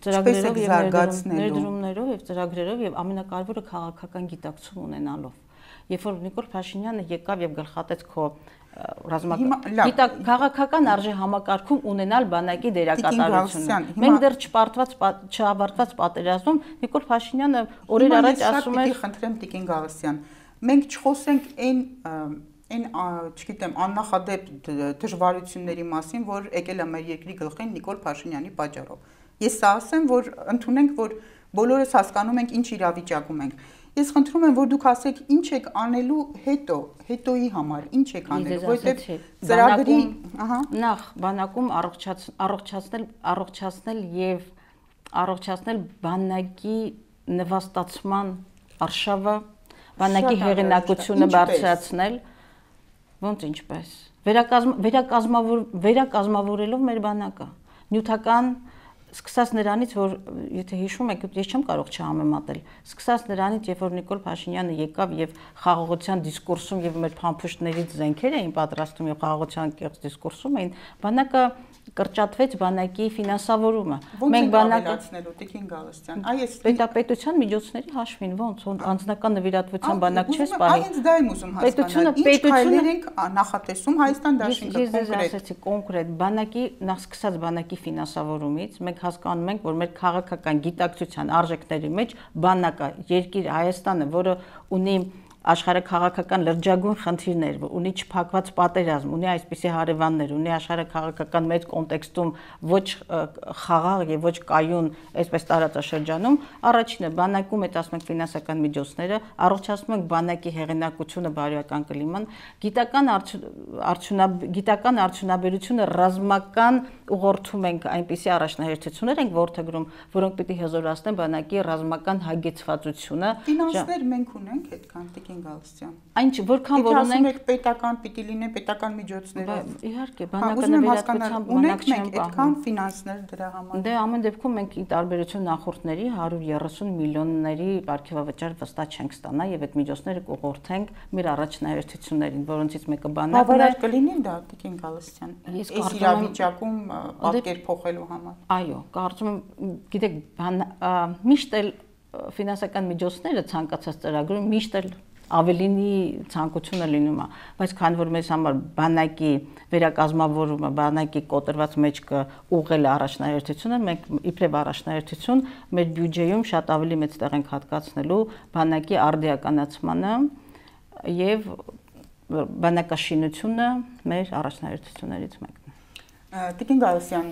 ծրագրերով եւ ներդրումներով եւ ծրագրերով եւ ամենակարևորը քաղաքական գիտակցում ունենալով։ Երբ որ Նիկոլ Փաշինյանը եկավ եւ գլխատեց քո ռազմական քաղաքական արժե համակարգում ունենալ բանակի դերակատարությունը։ Մենք դեռ չպարտված չավարտված պատերազմում Նիկոլ Փաշինյանը օրեր առաջ ասում էր, խնդրեմ Տիկին Գալստյան, մենք չխոսենք այն այն չգիտեմ աննախադեպ դժվարությունների մասին, որ եկել է մեր երկրի գլխին Նիկոլ Փաշինյանի պատճառով։ Ես սա ասեմ, որ ընդունենք, որ բոլորս հասկանում ենք ինչ իրավիճակում ենք։ Ես խնդրում եմ, որ դուք ասեք ինչ եք անելու հետո, հետոյի համար, ինչ եք անելու, որովհետև ծրագրի, ահա, նախ բանակում առողջացնել, առողջացնել եւ առողջացնել բանակի նվաստացման արշավը, բանակի հեղինակությունը բարձրացնել, ոնց ինչպես, վերակազմավոր վերակազմավորելով մեր բանակը, նյութական Սկսած նրանից, որ եթե հիշում եք, ես չեմ կարող չհամեմատել, սկսած նրանից, երբ որ Նիկոլ Փաշինյանը եկավ եւ խաղաղության դիսկուրսում եւ մեր փամփուշտներից զենքեր էին պատրաստում եւ խաղաղության կեղծ դիսկուրսում էին, բանակը կրճատվեց բանակի ֆինանսավորումը։ Մենք բանակացնելու Տիկին Գալստյան, այս պետապետության միջոցների հաշվին ոնց անձնական նվիրատվության բանակ չէ սպառել։ Այս դա եմ ուզում հասկանալ։ Ինչ քայլեր ենք նախատեսում Հայաստան Դաշինքը կոնկրետ։ Ես ասացի կոնկրետ բանակի նախ սկսած բանակի ֆինանսավորումից մենք հասկանում ենք, որ մեր քաղաքական գիտակցության արժեքների մեջ բանակը, երկիր Հայաստանը, որը ունի աշխարհաքաղաքական լրջագույն խնդիրներ, ունի չփակված պատերազմ, ունի այսպիսի հարևաններ, ունի աշխարհաքաղաքական մեծ կոնտեքստում ոչ խաղաղ եւ ոչ կայուն այսպես տարածաշրջանում, առաջինը բանակում այդ ասում ենք ֆինանսական միջոցները, առողջացնում ենք բանակի հեղինակությունը, բարոյական կլիման, գիտական արդյունա գիտական արդյունաբերությունը ռազմական ուղղորդում ենք այնպիսի առաջնահերթություններ ենք ворթեգրում, որոնք պիտի հզորացնեն բանակի ռազմական հագեցվածությունը։ Ֆինանսներ մենք ունենք այդքան Տիկին Գալստյան։ Այն որքան որ ունենք պետական պիտի լինեն պետական միջոցներով։ Իհարկե, բանակը նվիրատվության բանակ չեն պահում։ Այդքան ֆինանսներ դրա համար։ Դե ամեն դեպքում մենք ի տարբերություն նախորդների հարյուր երեսուն միլիոնների ապարքեվավճար վստահ չենք ստանա եւ այդ միջոցները կուղղորդենք մեր առաջնահերթություններին, որոնցից մեկը բանակն է։ Բավարար կլինի դա Տիկին Գալստյան։ Այս իրավիճակում պատկեր փոխելու համար։ Այո, կարծում եմ, գիտեք, միշտ էլ ֆինանսական միջոցները ցանկացած ծրագրում միշտ էլ ավելինի ցանկությունը լինում է, բայց քանի որ մեզ համար բանակի վերակազմավորումը, բանակի կոտրված մեջքը ուղղել է առաջնահերթությունը, մենք իբրև առաջնահերթություն մեր բյուջեում շատ ավելի մեծ տեղ ենք հատկացնելու բանակի արդիականացմանը եւ բանակաշինությունը մեր առաջնահերթություններից մեկն է։ Տիկին Գալստյան,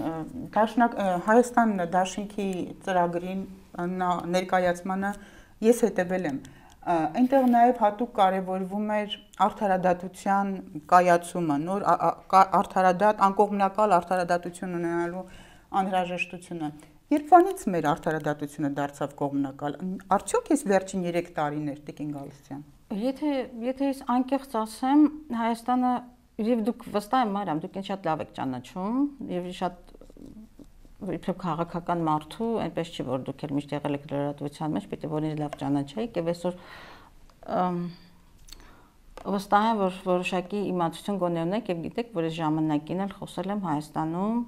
Դաշնակ Հայաստան Դաշինքի ծրագրին ներկայացմանը ես հետևել եմ։ Այնտեղ նաև հատուկ կարևորվում էր արդարադատության կայացումը, նոր արդարադատ, անկողմնակալ արդարադատություն ունենալու անհրաժեշտությունը։ Երբանից մեր արդարադատությունը դարձավ կողմնակալ։ Արդյոք այս վերջին երեք տարիներ, Տիկին Գալստյան։ Եթե եթե ես անկեղծ ասեմ, Հայաստանը եւ դուք վստահ եմ մարամ, դուք ինձ շատ լավ եք ճանաչում եւ շատ իբրև քաղաքական մարդու, այնպես չի որ դուք էլ միշտ եղել եք լրատվության մեջ, պետք է որ ինձ լավ ճանաչեիք եւ այսօր վստահ եմ որ որոշակի իմացություն գոնե ունեք եւ գիտեք, որ այս ժամանակին էլ խոսել եմ Հայաստանում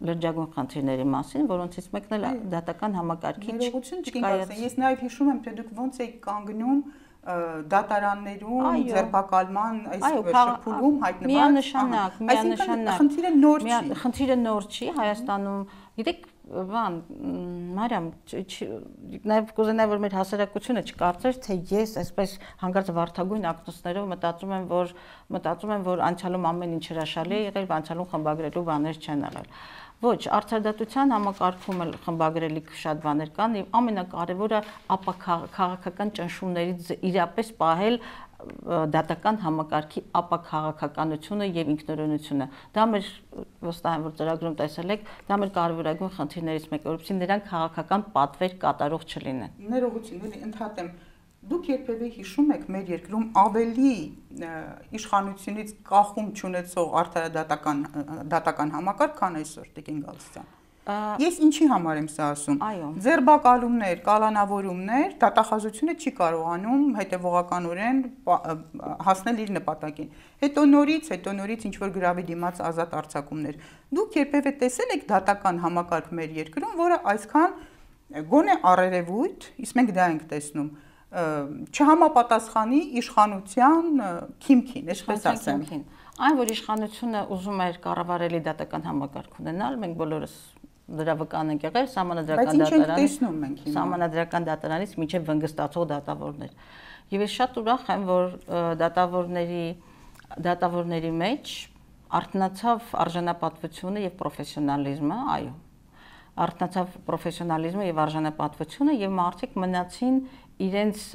լրջագույն խնդիրների մասին, որոնցից մեկն էլ դատական համակարգի չկայացնի։ Ես նաեւ հիշում եմ, թե դուք ոնց եք կանգնում դատարաններում ձերբակալման այս շփուլում հայտնված միանշանակ, միանշանակ խնդիրը նոր չի։ Խնդիրը նոր չի Հայաստանում, գիտեք, բան, Մարիամ, նաև կուզենայի, որ մեր հասարակությունը չկարծեր, թե ես այսպես հանկարծ վարդագույն ակնոցներով մտածում եմ, որ մտածում եմ, որ անցյալում ամեն ինչ հրաշալի է եղել, անցյալում խմբագրելու բաներ չեն եղել։ Ոչ, արդարադատության համակարգում էլ խմբագրելիք շատ բաներ կան, եւ ամենակարևորը ապա քաղաքական ճնշումներից իրապես պահել դատական համակարգի ապաքաղաքականությունը եւ ինքնորոշությունը։ Դա մեր վստահ եմ, որ ծրագրում տեսել եք, դա մեր կարևորագույն խնդիրներից մեկը, որովհետեւ նրանք քաղաքական պատվեր կատարող չլինեն։ Ներողություն, էլի ընդհատեմ։ Դուք երբևէ հիշում եք մեր երկրում ավելի իշխանությունից կախում չունեցող արդարադատական դատական համակարգ, քան այսօր, Տիկին Գալստյան։ Ես ինչի համար եմ սա ասում։ Ձերբակալումներ, կալանավորումներ, դատախազությունը չի կարողանում հետևողականորեն հասնել իր նպատակին։ Հետո նորից, հետո նորից ինչ որ գրավի դիմաց ազատ արձակումներ։ Դուք երբևէ տեսել եք դատական համակարգ մեր երկրում, որը այսքան գոնե առերևույթ, իսկ մենք դա ենք տեսնում, չհամապատասխանի իշխանության քիմքին, այսպես ասեմ։ Այն, որ իշխանությունը ուզում էր կառավարելի դատական համակարգ ունենալ, մենք բոլորս դրա վկան ենք եղել սահմանադրական դատարանից, սահմանադրական դատարանից մինչև վնգստացող դատավորներ։ Եվ ես շատ ուրախ եմ, որ դատավորների դատավորների մեջ արթնացավ արժանապատվությունը եւ պրոֆեսիոնալիզմը, այո։ Արթնացավ պրոֆեսիոնալիզմը եւ արժանապատվությունը եւ մարդիկ մնացին իրենց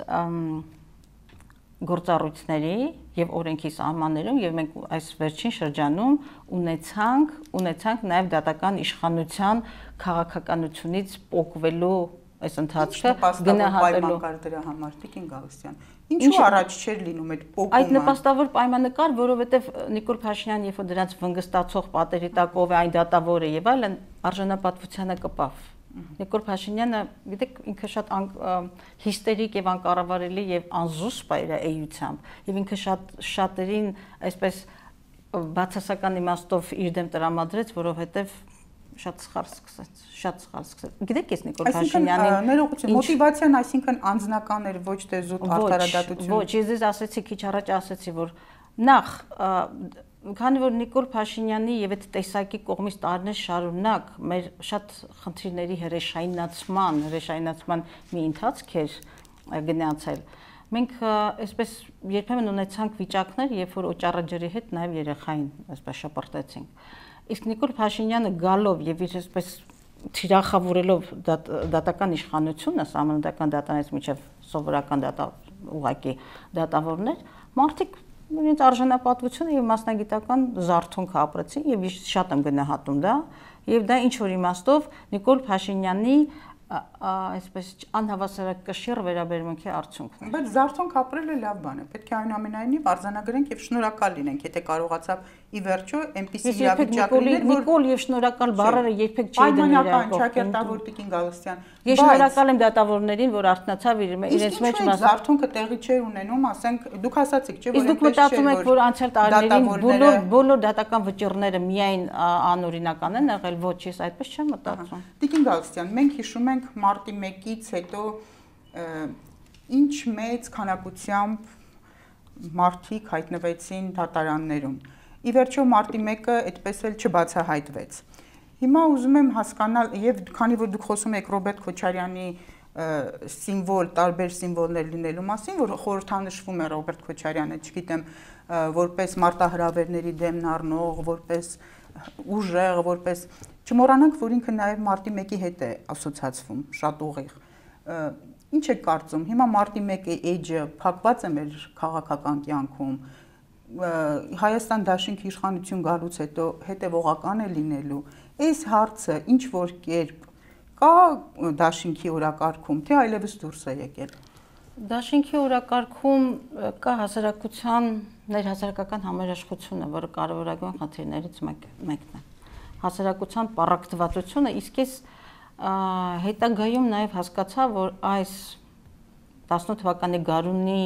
գործառույթների եւ օրենքի սահմաններում եւ մենք այս վերջին շրջանում ունեցանք ունեցանք նաեւ դատական իշխանության քաղաքականությունից պոկվելու այս ընթացքը գնահատելու դրա համար Տիկին Գալստյան ինչու առաջ չէր լինում այդ պոկումը այդ նպաստավոր պայմանը կար որովհետեւ Նիկոլ Փաշինյանն երբ որ դրանց վնգստացող պատերի տակով է այն դատավորը եւ այլն արժանապատվությանը կպավ Նիկոլ Փաշինյանը, գիտեք, ինքը շատ հիստերիկ եւ անկառավարելի եւ անզուսպ էր էությամբ, եւ ինքը շատ շատերին այսպես բացասական իմաստով իր դեմ տրամադրեց, որովհետեւ շատ սխալ սկսեց, շատ սխալ սկսեց։ Գիտեք, ես Նիկոլ Փաշինյանին ներողություն, մոտիվացիան այսինքն անձնական էր, ոչ թե զուտ արդարադատություն։ Ոչ, ես ձեզ ասեցի, քիչ առաջ ասեցի, որ նախ քանի որ Նիկոլ Փաշինյանի եւ այդ տեսակի կողմից տարիներ շարունակ մեր շատ խնդիրների հրեշայնացման, հրեշայնացման մի ընթացք էր գնացել։ Մենք այսպես երբեմն ունեցանք վիճակներ, երբ որ օճառը ջրի հետ նաեւ երեխային այսպես շպրտեցինք։ Իսկ Նիկոլ Փաշինյանը գալով եւ իր այսպես թիրախավորելով դատական իշխանությունը, սահմանադրական դատարանից մինչեւ սովորական դատա ուղղակի դատավորներ, մարդիկ Ինձ արժանապատվությունը եւ մասնագիտական զարթոնք ապրեցին եւ շատ եմ գնահատում դա եւ դա ինչ որ իմաստով Նիկոլ Փաշինյանի այսպես անհավասարակշիռ վերաբերմունքի արդյունքն է։ Բայց զարթոնք ապրելը լավ բան է։ Պետք է այնուամենայնիվ արձանագրենք եւ շնորհակալ լինենք, եթե կարողացավ ի վերջո այնպիսի իրավիճակ լինել, որ Նիկոլ եւ շնորհակալ բառերը երբեք չի դնել իրական ճակերտավոր Տիկին Գալստյան։ Ես շնորհակալ եմ դատավորներին, որ արթնացավ իրենց մեջ զարթոնքը տեղի չէր ունենում, ասենք դուք ասացիք, չէ՞ որ դուք մտածում եք, որ անցյալ տարիներին բոլոր բոլոր դատական վճիռները միայն անօրինական են եղել, ոչ, ես այդպես չեմ մտածում։ Տիկին Գալստյան, մենք հիշում ենք մարտի մեկից հետո ինչ մեծ քանակությամբ մարդիկ հայտնվեցին դատարաններում։ Ի վերջո մարտի մեկը այդպես էլ չբացահայտվեց։ Հիմա ուզում եմ հասկանալ եւ քանի որ դուք խոսում եք Ռոբերտ Քոչարյանի սիմվոլ, տարբեր սիմվոլներ լինելու մասին, որ խորհրդանշվում է Ռոբերտ Քոչարյանը, չգիտեմ, որպես մարտահրավերների դեմն առնող, որպես ուժեղ, որպես չմոռանանք, որ ինքը նաեւ մարտի մեկի հետ է ասոցացվում, շատ ուղիղ։ Ինչ եք կարծում, հիմա մարտի մեկի էջը փակված է մեր քաղաքական կյանքում, Հայաստան դաշինքի իշխանություն գալուց հետո հետևողական է լինելու, այս հարցը ինչ որ կերպ կա դաշինքի օրակարգում, թե այլևս դուրս է եկել։ Դաշինքի օրակարգում կա հասարակության ներհասարակական համերաշխությունը, որը կարևորագույն խնդիրներից մեկն է։ Հասարակության պառակտվածությունը, իսկ ես հետագայում նաև հասկացա, որ այս տասնութ թվականի գարունի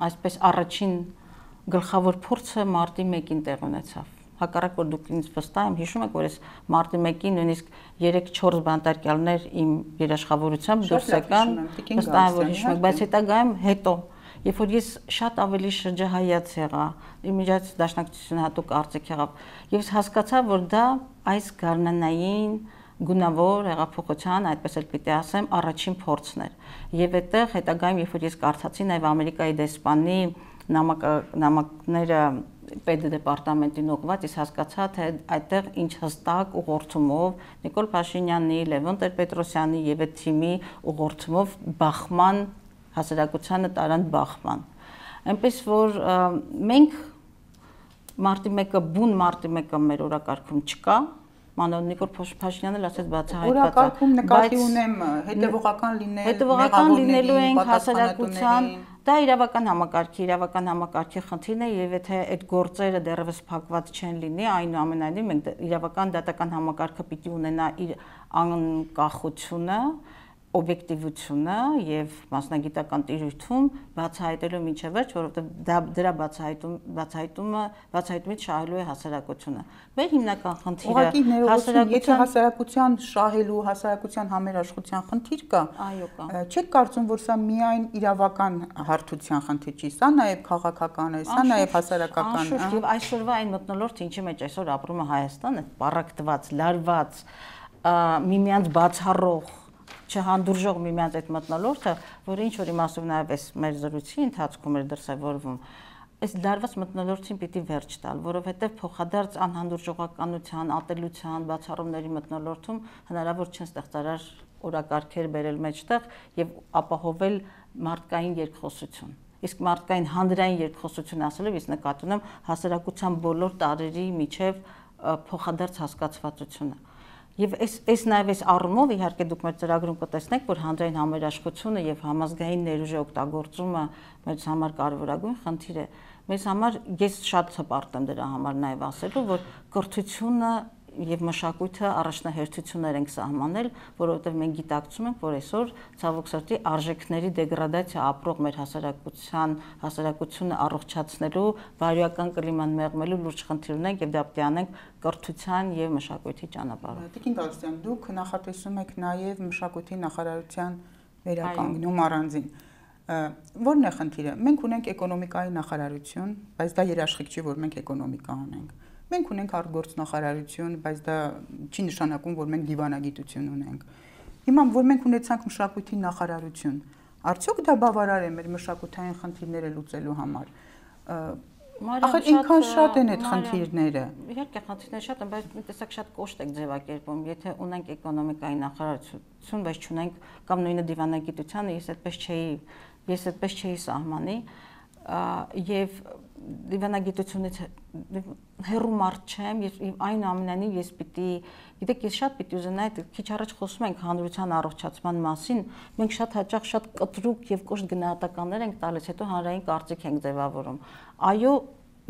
այսպես առաջին գլխավոր փորձը մարտի մեկին տեղ ունեցավ։ Հակառակ որ դուք ինձ վստահ եմ հիշում եք, որ ես մարտի մեկին նույնիսկ երեք չորս բանտարկյալներ իմ երաշխավորությամբ դուրս եկան, վստահ եմ որ հիշում եք, բայց հետագայում հետո, երբ որ ես շատ ավելի շրջահայաց եղա, իմ միջից դաշնակցությունը հատուկ արծիք եղավ, եւ հասկացա, որ դա այս գարնանային գունավոր հեղափոխության, այդպես էլ պիտի ասեմ, առաջին փորձն էր։ Եվ այդտեղ հետագայում, երբ որ ես կարդացի նաև Ամերիկայի դեսպանի նամակները պետդեպարտամենտին ուղղված, ես հասկացա, թե այդտեղ ինչ հստակ ուղղորդումով Նիկոլ Փաշինյանի, Լևոն Տեր-Պետրոսյանի եւ այդ թիմի ուղղորդումով բախման հասարակությանը տարան բախման։ Այնպես որ մենք մարտի մեկը բուն մարտի մեկը մեր օրակարգում չկա, մանավանդ Նիկոլ Փաշինյանը ասեց բացահայտված, օրակարգում նկատի ունեմ հետևողական լինել, հետևողական լինելու ենք հասարակության, դա իրավական համակարգի, իրավական համակարգի խնդիրն է եւ եթե այդ գործերը դեռևս փակված չեն լինի, այնուամենայնիվ մենք իրավական դատական համակարգը պիտի ունենա իր անկախությունը, օբյեկտիվությունը եւ մասնագիտական տիրույթում բացահայտելու միջև վերջ, որովհետեւ դա դրա բացահայտում բացահայտումը բացահայտումից շահելու է հասարակությունը։ Մեր հիմնական խնդիրը հասարակության հասարակության շահելու, հասարակության համերաշխության խնդիր կա։ Այո, կա։ Չեք կարծում, որ սա միայն իրավական հարթության խնդիր չի, սա նաեւ քաղաքական է, սա նաեւ հասարակական։ Անշուշտ եւ այսօրվա այն մթնոլորտը, ինչի մեջ այսօր ապրում է Հայաստանը, պարակտված, լարված, միմյանց բացառող չհանդուրժող միմյանց այդ մթնոլորտը, որը ինչ որ իմաստով նաև այս մեր զրույցի ընթացքում էր դրսևորվում, այս լարված մթնոլորտին պիտի վերջ տալ, որովհետև փոխադարձ անհանդուրժողականության, ատելության, բացառումների մթնոլորտում հնարավոր չեն ստեղծարար օրակարգեր բերել մեջտեղ եւ ապահովել մարդկային երկխոսություն։ Իսկ մարդկային հանրային երկխոսություն ասելով ես նկատի ունեմ հասարակության բոլոր տարերի միջև փոխադարձ հասկացվածությունը։ Եվ այս այս նաև այս առումով իհարկե դուք մեր ծրագրում կտեսնեք, որ հանրային համերաշխությունը եւ համազգային ներուժի օգտագործումը մեզ համար կարևորագույն խնդիր է։ Մեզ համար ես շատ հպարտ եմ դրա համար նաև ասելու, որ կրթությունը եւ մշակույթը առաջնահերթություններ ենք սահմանել, որովհետեւ մենք գիտակցում ենք, որ այսօր ցավոք սրտի արժեքների դեգրադացիա ապրող մեր հասարակության հասարակությունը առողջացնելու, բարոյական կլիման մեղմելու լուրջ խնդիր ունենք եւ դա պետք է անենք կրթության եւ մշակույթի ճանապարհով։ Տիկին Գալստյան, դուք նախատեսում եք նաեւ մշակույթի նախարարության վերականգնում առանձին։ Որն է խնդիրը։ Մենք ունենք էկոնոմիկայի նախարարություն, բայց դա երաշխիք չի, որ մենք էկոնոմիկա անենք։ Մենք ունենք արտգործնախարարություն, բայց դա չի նշանակում, որ մենք դիվանագիտություն ունենք։ Հիմա որ մենք ունեցանք մշակույթի նախարարություն, արդյոք դա բավարար է մեր մշակութային խնդիրները լուծելու համար։ Ախր ինքան շատ են այդ խնդիրները։ Իհարկե խնդիրները շատ են, բայց մի տեսակ շատ կոշտ եք ձևակերպում։ Եթե ունենք էկոնոմիկայի նախարարություն, բայց չունենք կամ նույնը դիվանագիտությանը, ես այդպես չէի, ես այդպես չէի սահմանի եւ դիվանագիտությունից հեռու մարդ չեմ եւ այնուամենայնիվ ես պիտի գիտեք ես շատ պիտի ուզենայի քիչ առաջ խոսում ենք հանրության առողջացման մասին մենք շատ հաճախ շատ կտրուկ եւ կոշտ գնահատականներ ենք տալիս հետո հանրային կարծիք ենք ձևավորում այո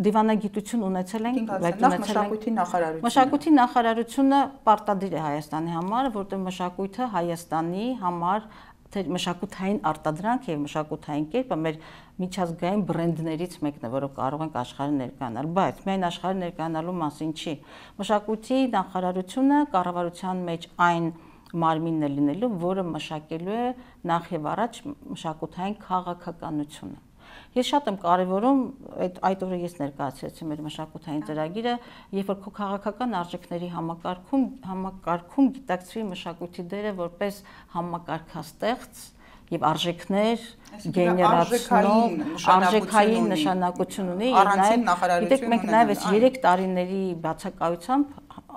դիվանագիտություն ունեցել ենք բայց ունեցել ենք մշակույթի նախարարությունը մշակույթի նախարարությունը պարտադիր է Հայաստանի համար որտեղ մշակույթը Հայաստանի համար մշակութային արտադրանք եւ մշակութային կերպը մեր միջազգային բրենդներից մեկն է, որով կարող ենք աշխարհը ներկայանալ, բայց միայն աշխարհը ներկայանալու մասին չի։ Մշակույթի նախարարությունը կառավարության մեջ այն մարմինն է լինելու, որը մշակելու է նախ եւ առաջ մշակութային քաղաքականությունը։ Ես շատ եմ կարևորում այդ այդ օրը ես ներկայացրեցի մեր մշակութային ծրագիրը, երբ որ քո քաղաքական արժեքների համակարգում համակարգում գիտակցվի մշակույթի դերը որպես համակարգաստեղծ եւ արժեքներ գեներացնող արժեքային նշանակություն ունի եւ նաեւ գիտեք մենք նաեւ այս երեք տարիների բացակայությամբ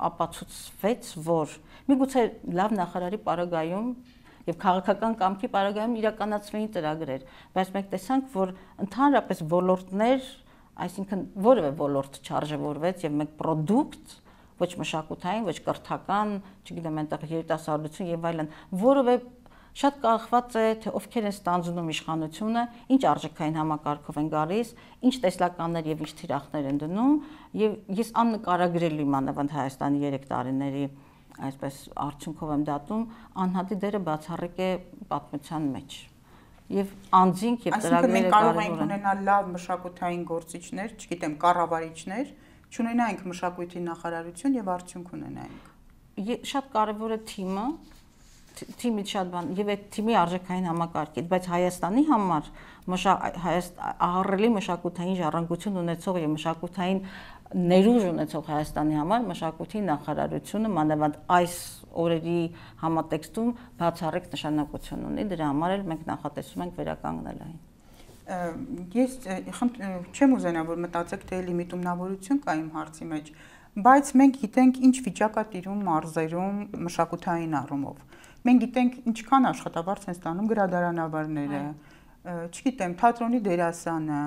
ապացուցվեց որ միգուցե լավ նախարարի պարագայում եւ քաղաքական կամքի պարագայում իրականացվեին ծրագրեր, բայց մենք տեսանք, որ ընդհանրապես ոլորտներ, այսինքն որևէ ոլորտ չարժևորվեց եւ մենք product, ոչ մշակութային, ոչ կրթական, չգիտեմ, այնտեղ երիտասարդություն եւ այլն, որևէ շատ կախված է թե ովքեր են ստանձնում իշխանությունը, ինչ արժեքային համակարգով են գալիս, ինչ տեսլականներ եւ ինչ թիրախներ են դնում եւ ես աննկարագրելի մանավանդ Հայաստանի երեք տարիների այսպես արդյունքով եմ դատում անհատի դերը բացառիկ է պատմության մեջ եւ անձինք եւ ծրագրերը կարող ենք ունենալ լավ մշակութային գործիչներ, չգիտեմ, կառավարիչներ, չունենայինք մշակույթի նախարարություն եւ արդյունք ունենայինք։ Շատ կարեւոր է թիմը, թիմի շատ բան եւ այդ թիմի արժեքային համակարգից, բայց Հայաստանի համար ահռելի մշակութային ժառանգություն ունեցող եւ մշակութային ներուժ ունեցող Հայաստանի համար մշակույթի նախարարությունը մանավանդ այս օրերի համատեքստում բացառիկ նշանակություն ունի, դրա համար էլ մենք նախատեսում ենք վերականգնել այն։ Ես չեմ ուզենա, որ մտածեք, թե լիմիտումնավորություն կա իմ հարցի մեջ, բայց մենք գիտենք ինչ վիճակ է տիրում մարզերում մշակութային առումով։ Մենք գիտենք ինչքան աշխատավարձ են ստանում գրադարանավարները, չգիտեմ, թատրոնի դերասանը,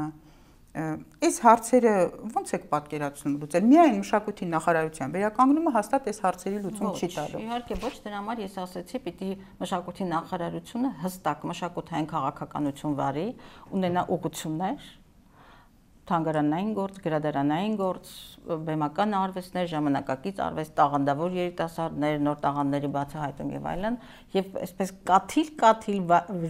այս հարցերը ո՞նց եք պատկերացնում լուծել։ Միայն մշակույթի նախարարության վերականգնումը հաստատ այս հարցերի լուծում չի տալու։ Իհարկե ոչ, դրա համար ես ասացի, պիտի մշակույթի նախարարությունը հստակ մշակութային քաղաքականություն վարի, ունենա ուղղություններ, թանգարանային գործ, գրադարանային գործ, բեմական արվեստներ, ժամանակակից արվեստ, տաղանդավոր երիտասարդներ, նոր տաղանդների բացահայտում եւ այլն, եւ այսպես կաթիլ-կաթիլ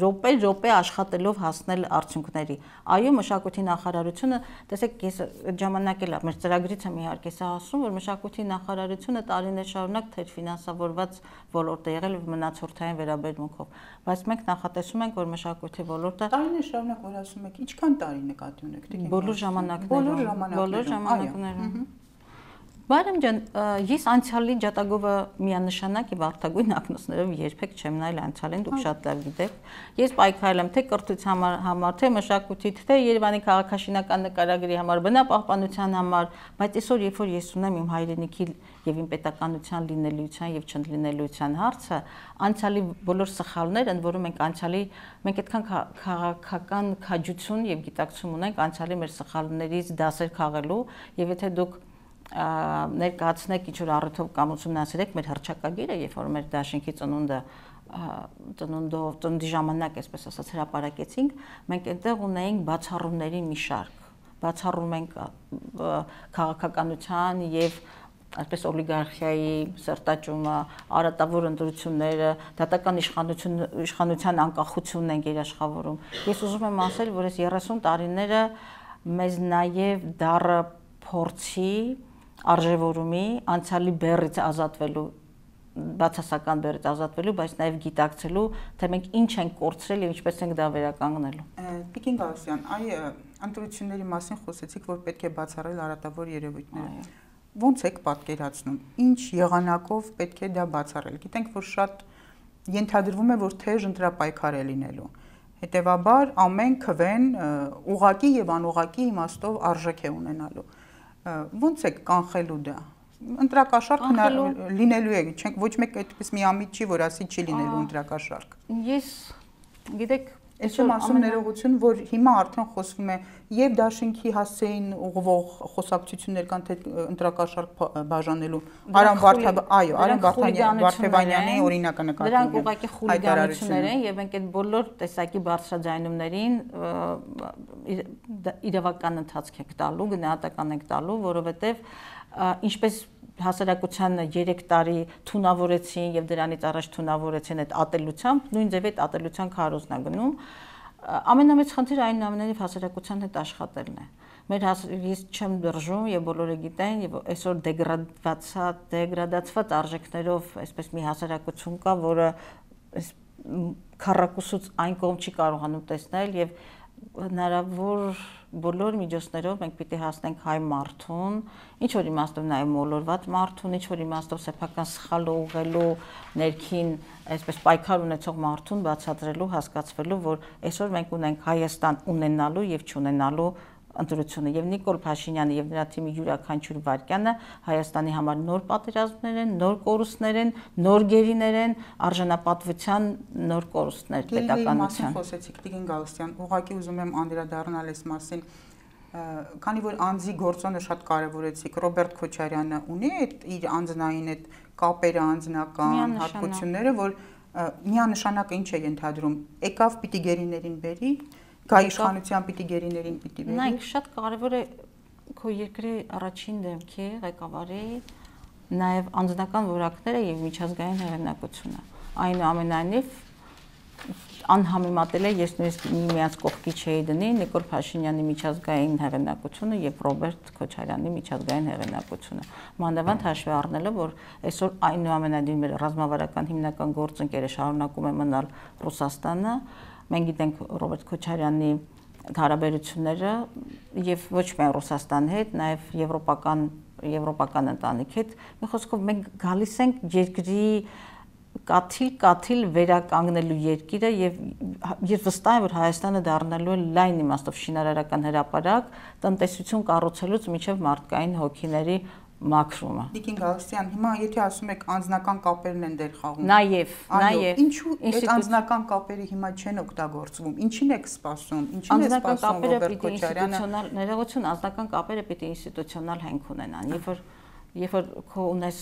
րոպե-րոպե աշխատելով հասնել արդյունքների։ Այո, մշակույթի նախարարությունը, տեսեք, ես այդ ժամանակ էլ մեր ծրագրից եմ իհարկե սա ասում, որ մշակույթի նախարարությունը տարիներ շարունակ թերֆինանսավորված ոլորտ է եղել մնացորդային վերաբերմունքով, բայց մենք նախատեսում ենք, որ մշակույթի ոլորտը տարիներ շարունակ որ ասում եք, ինչքան տարի նկատի ունեք, բոլոր ժամանակներում, բոլոր ժամանակներում։ Բարեմ ջան, ես անցյալի ջատագովը միանշանակ եւ արտագույն ակնոցներով երբեք չեմ նայել անցյալին, դուք շատ լավ գիտեք։ Ես պայքարել եմ թե կրթության համար, թե մշակույթի, թե Երևանի քաղաքաշինական նկարագրի համար, բնապահպանության համար, բայց այսօր երբ որ ես ունեմ իմ հայրենիքի եւ իմ պետականության լինելիության եւ չլինելիության հարցը, անցյալի բոլոր սխալները, ընդ որում մենք անցյալի մենք այդքան քաղաքական քաջություն եւ գիտակցություն ունենք անցյալի մեր սխալներից դասեր քաղելու եւ եթե դուք ներկայացնեք ինչ որ առիթով կամ ուսումնասիրեք մեր հռչակագիրը, երբ որ մեր դաշինքի ծնունդը ծնունդով ծննդի ժամանակ, այսպես ասած, հրապարակեցինք, մենք այնտեղ ունեինք բացառումների մի շարք, բացառում ենք քաղաքականության եւ այսպես օլիգարխիայի սերտաճումը, արատավոր ընտրությունները, դատական իշխանություն իշխանության անկախությունն են երաշխավորում։ Ես ուզում եմ ասել, որ այս երեսուն տարիները մեզ նաեւ դառը փորձի արժևորումի անցյալի բեռից ազատվելու բացասական բեռից ազատվելու, բայց նաև գիտակցելու, թե մենք ինչ ենք կորցրել եւ ինչպես ենք դա վերականգնելու։ Տիկին Գալստյան, այ ընտրությունների մասին խոսեցիք, որ պետք է բացառել արատավոր երևույթները։ Ոնց եք պատկերացնում, ինչ եղանակով պետք է դա բացառել։ Գիտենք, որ շատ ենթադրվում է, որ թեժ ընտրապայքար է լինելու։ Հետևաբար ամեն քվեն ուղղակի եւ անուղղակի իմաստով արժեք է ունենալու։ Ոնց եք կանխելու դա։ Ընտրակաշարք լինելու է, չենք ոչ մեկ այդպես միամիտ չի, որ ասի չի լինելու ընտրակաշարք։ Ես գիտեք, ես եմ ասում ներողություն, որ հիմա արդեն խոսվում է եւ դաշինքի հասցեին ուղղվող խոսակցություններ կան, թե ընտրակաշարք բաժանելու Արամ Վարդապետյանի, այո, Արամ Վարդապետյանի օրինակը նկատի ունեմ։ Դրանք ուղղակի խուլիգանություններ են եւ մենք այդ բոլոր տեսակի բարձրաձայնումներին իրավական ընթացք ենք տալու, գնահատական ենք տալու, որովհետեւ ինչպես հասարակության երեք տարի թունավորեցին եւ դրանից առաջ թունավորեցին այդ ատելությամբ, նույն ձև այդ ատելության քարոզն է գնում։ Ամենամեծ խնդիրը այնուամենայնիվ հասարակության հետ աշխատելն է։ Մեր ես չեմ դրժում եւ բոլորը գիտեն եւ այսօր դեգրադացած դեգրադացված արժեքներով այսպես մի հասարակություն կա, որը այս քառակուսուց այն կողմ չի կարողանում տեսնել եւ հնարավոր բոլոր միջոցներով մենք պիտի հասնենք հայ մարդուն, ինչ որ իմաստով նաև մոլորված մարդուն, ինչ որ իմաստով սեփական սխալը ուղղելու ներքին այսպես պայքար ունեցող մարդուն բացատրելու, հասկացվելու, որ այսօր մենք ունենք Հայաստան ունենալու եւ չունենալու ընտրությունը եւ Նիկոլ Փաշինյանը եւ նրա թիմի յուրաքանչյուր վարքյանը Հայաստանի համար նոր պատերազմներ են, նոր կորուստներ են, նոր գերիներ են, արժանապատվության նոր կորուստներ պետականության։ Խոսեցիք Տիկին Գալստյան, ուղղակի ուզում եմ անդրադառնալ այս մասին, քանի որ անձի գործոնը շատ կարևորեցիք, Ռոբերտ Քոչարյանը ունի այդ իր անձնային այդ կապերը, անձնական հատկությունները, որ միանշանակ ինչ է ենթադրում, եկավ պիտի գերիներին բերի, գա իշխանության պիտի գերիներին պիտի բերի։ Նայեք, շատ կարևոր է քո երկրի առաջին դեմքի ղեկավարի նաև անձնական որակները եւ միջազգային հեղինակությունը։ Այնուամենայնիվ անհամեմատել է, ես նույնիսկ միմյանց կողքի չէի դնի Նիկոլ Փաշինյանի միջազգային հեղինակությունը եւ Ռոբերտ Քոչարյանի միջազգային հեղինակությունը։ Մանավանդ հաշվի առնելով, որ այսօր այնուամենայնիվ ռազմավարական հիմնական գործընկերը շարունակում է մնալ Ռուսաստանը, մենք գիտենք Ռոբերտ Քոչարյանի հարաբերությունները եւ ոչ միայն Ռուսաստանի հետ, նաեւ եվրոպական եվրոպական ընտանիքի հետ, մի խոսքով մենք գալիս ենք երկրի կաթիլ-կաթիլ վերականգնելու երկիրը եւ ես վստահ եմ, որ Հայաստանը դառնալու է լայն իմաստով շինարարական հրապարակ տնտեսություն կառուցելուց մինչեւ մարդկային հոգիների մաքրումը։ Տիկին Գալստյան, հիմա եթե ասում եք անձնական կապերն են դեր խաղում։ Նաեւ, նաեւ ինչու այդ անձնական կապերը հիմա չեն օգտագործվում։ Ինչին եք սպասում։ Ինչին է սպասում Ռոբերտ Քոչարյանը։ Ներողություն, անձնական կապերը պիտի ինստիտուցիոնալ հենք ունենան։ Երբ որ երբ որ քո ունես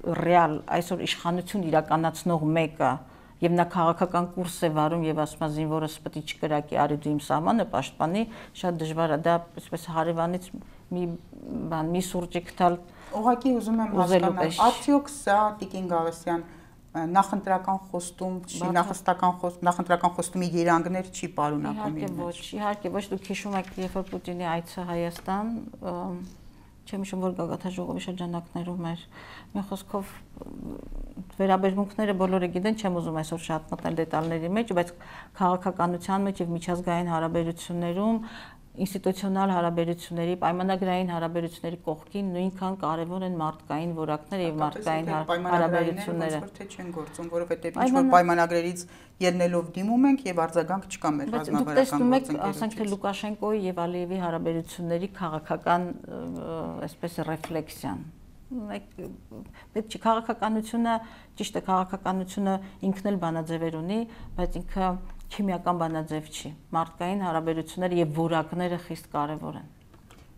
ռեալ այսօր իշխանություն իրականացնող մեկը եւ նա քաղաքական կուրս է վարում եւ ասում է զինվորս պետք է չկրակի արի դու իմ սահմանը պաշտպանի, շատ դժվար է դա այսպես հարևանից մի բան մի սուրճիկ տալ։ Ուղղակի ուզում եմ հասկանալ, արդյոք սա Տիկին Գալստյան նախընտրական խոստում չի, նախստական խոստ, նախընտրական խոստումի երանգներ չի պարունակում։ Իհարկե ոչ, իհարկե ոչ, դուք հիշում եք, երբ որ Պուտինի այցը Հայաստան, չեմ հիշում, որ գագաթաժողովի շրջանակներում էր, մի խոսքով վերաբերմունքները բոլորը գիտեն, չեմ ուզում այսօր շատ մտնել դետալների մեջ, բայց քաղաքականության մեջ եւ միջազգային հարաբերություններում ինստիտուցիոնալ հարաբերությունների, պայմանագրային հարաբերությունների կողքին նույնքան կարևոր են մարդկային որակները եւ մարդկային հարաբերությունները։ Ոնց որ թե չեն գործում, որովհետեւ ինչ որ պայմանագրերից ելնելով դիմում ենք եւ արձագանք չկա մեր ռազմավարական գործընկերությունից։ Ասենք թե Լուկաշենկոյի եւ Ալիևի հարաբերությունների քաղաքական այսպես ռեֆլեքսիան։ Պետք չի քաղաքականությունը, ճիշտ է, քաղաքականությունը ինքն էլ բանաձևեր ունի, բայց ինքը քիմիական բանաձև չի։ Մարդկային հարաբերությունները եւ որակները խիստ կարեւոր են։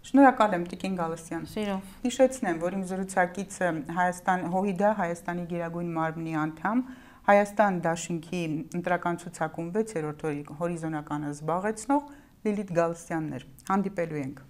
Շնորհակալ եմ Տիկին Գալստյան։ Սիրով։ Հիշեցնեմ, որ իմ զրուցակիցը Հայաստան ՀՅԴ Հայաստանի Գերագույն մարմնի անդամ, Հայաստան Դաշինքի ընտրական ցուցակում վեցերորդ հորիզոնականը զբաղեցնող Լիլիթ Գալստյանն էր։ Հանդիպելու ենք։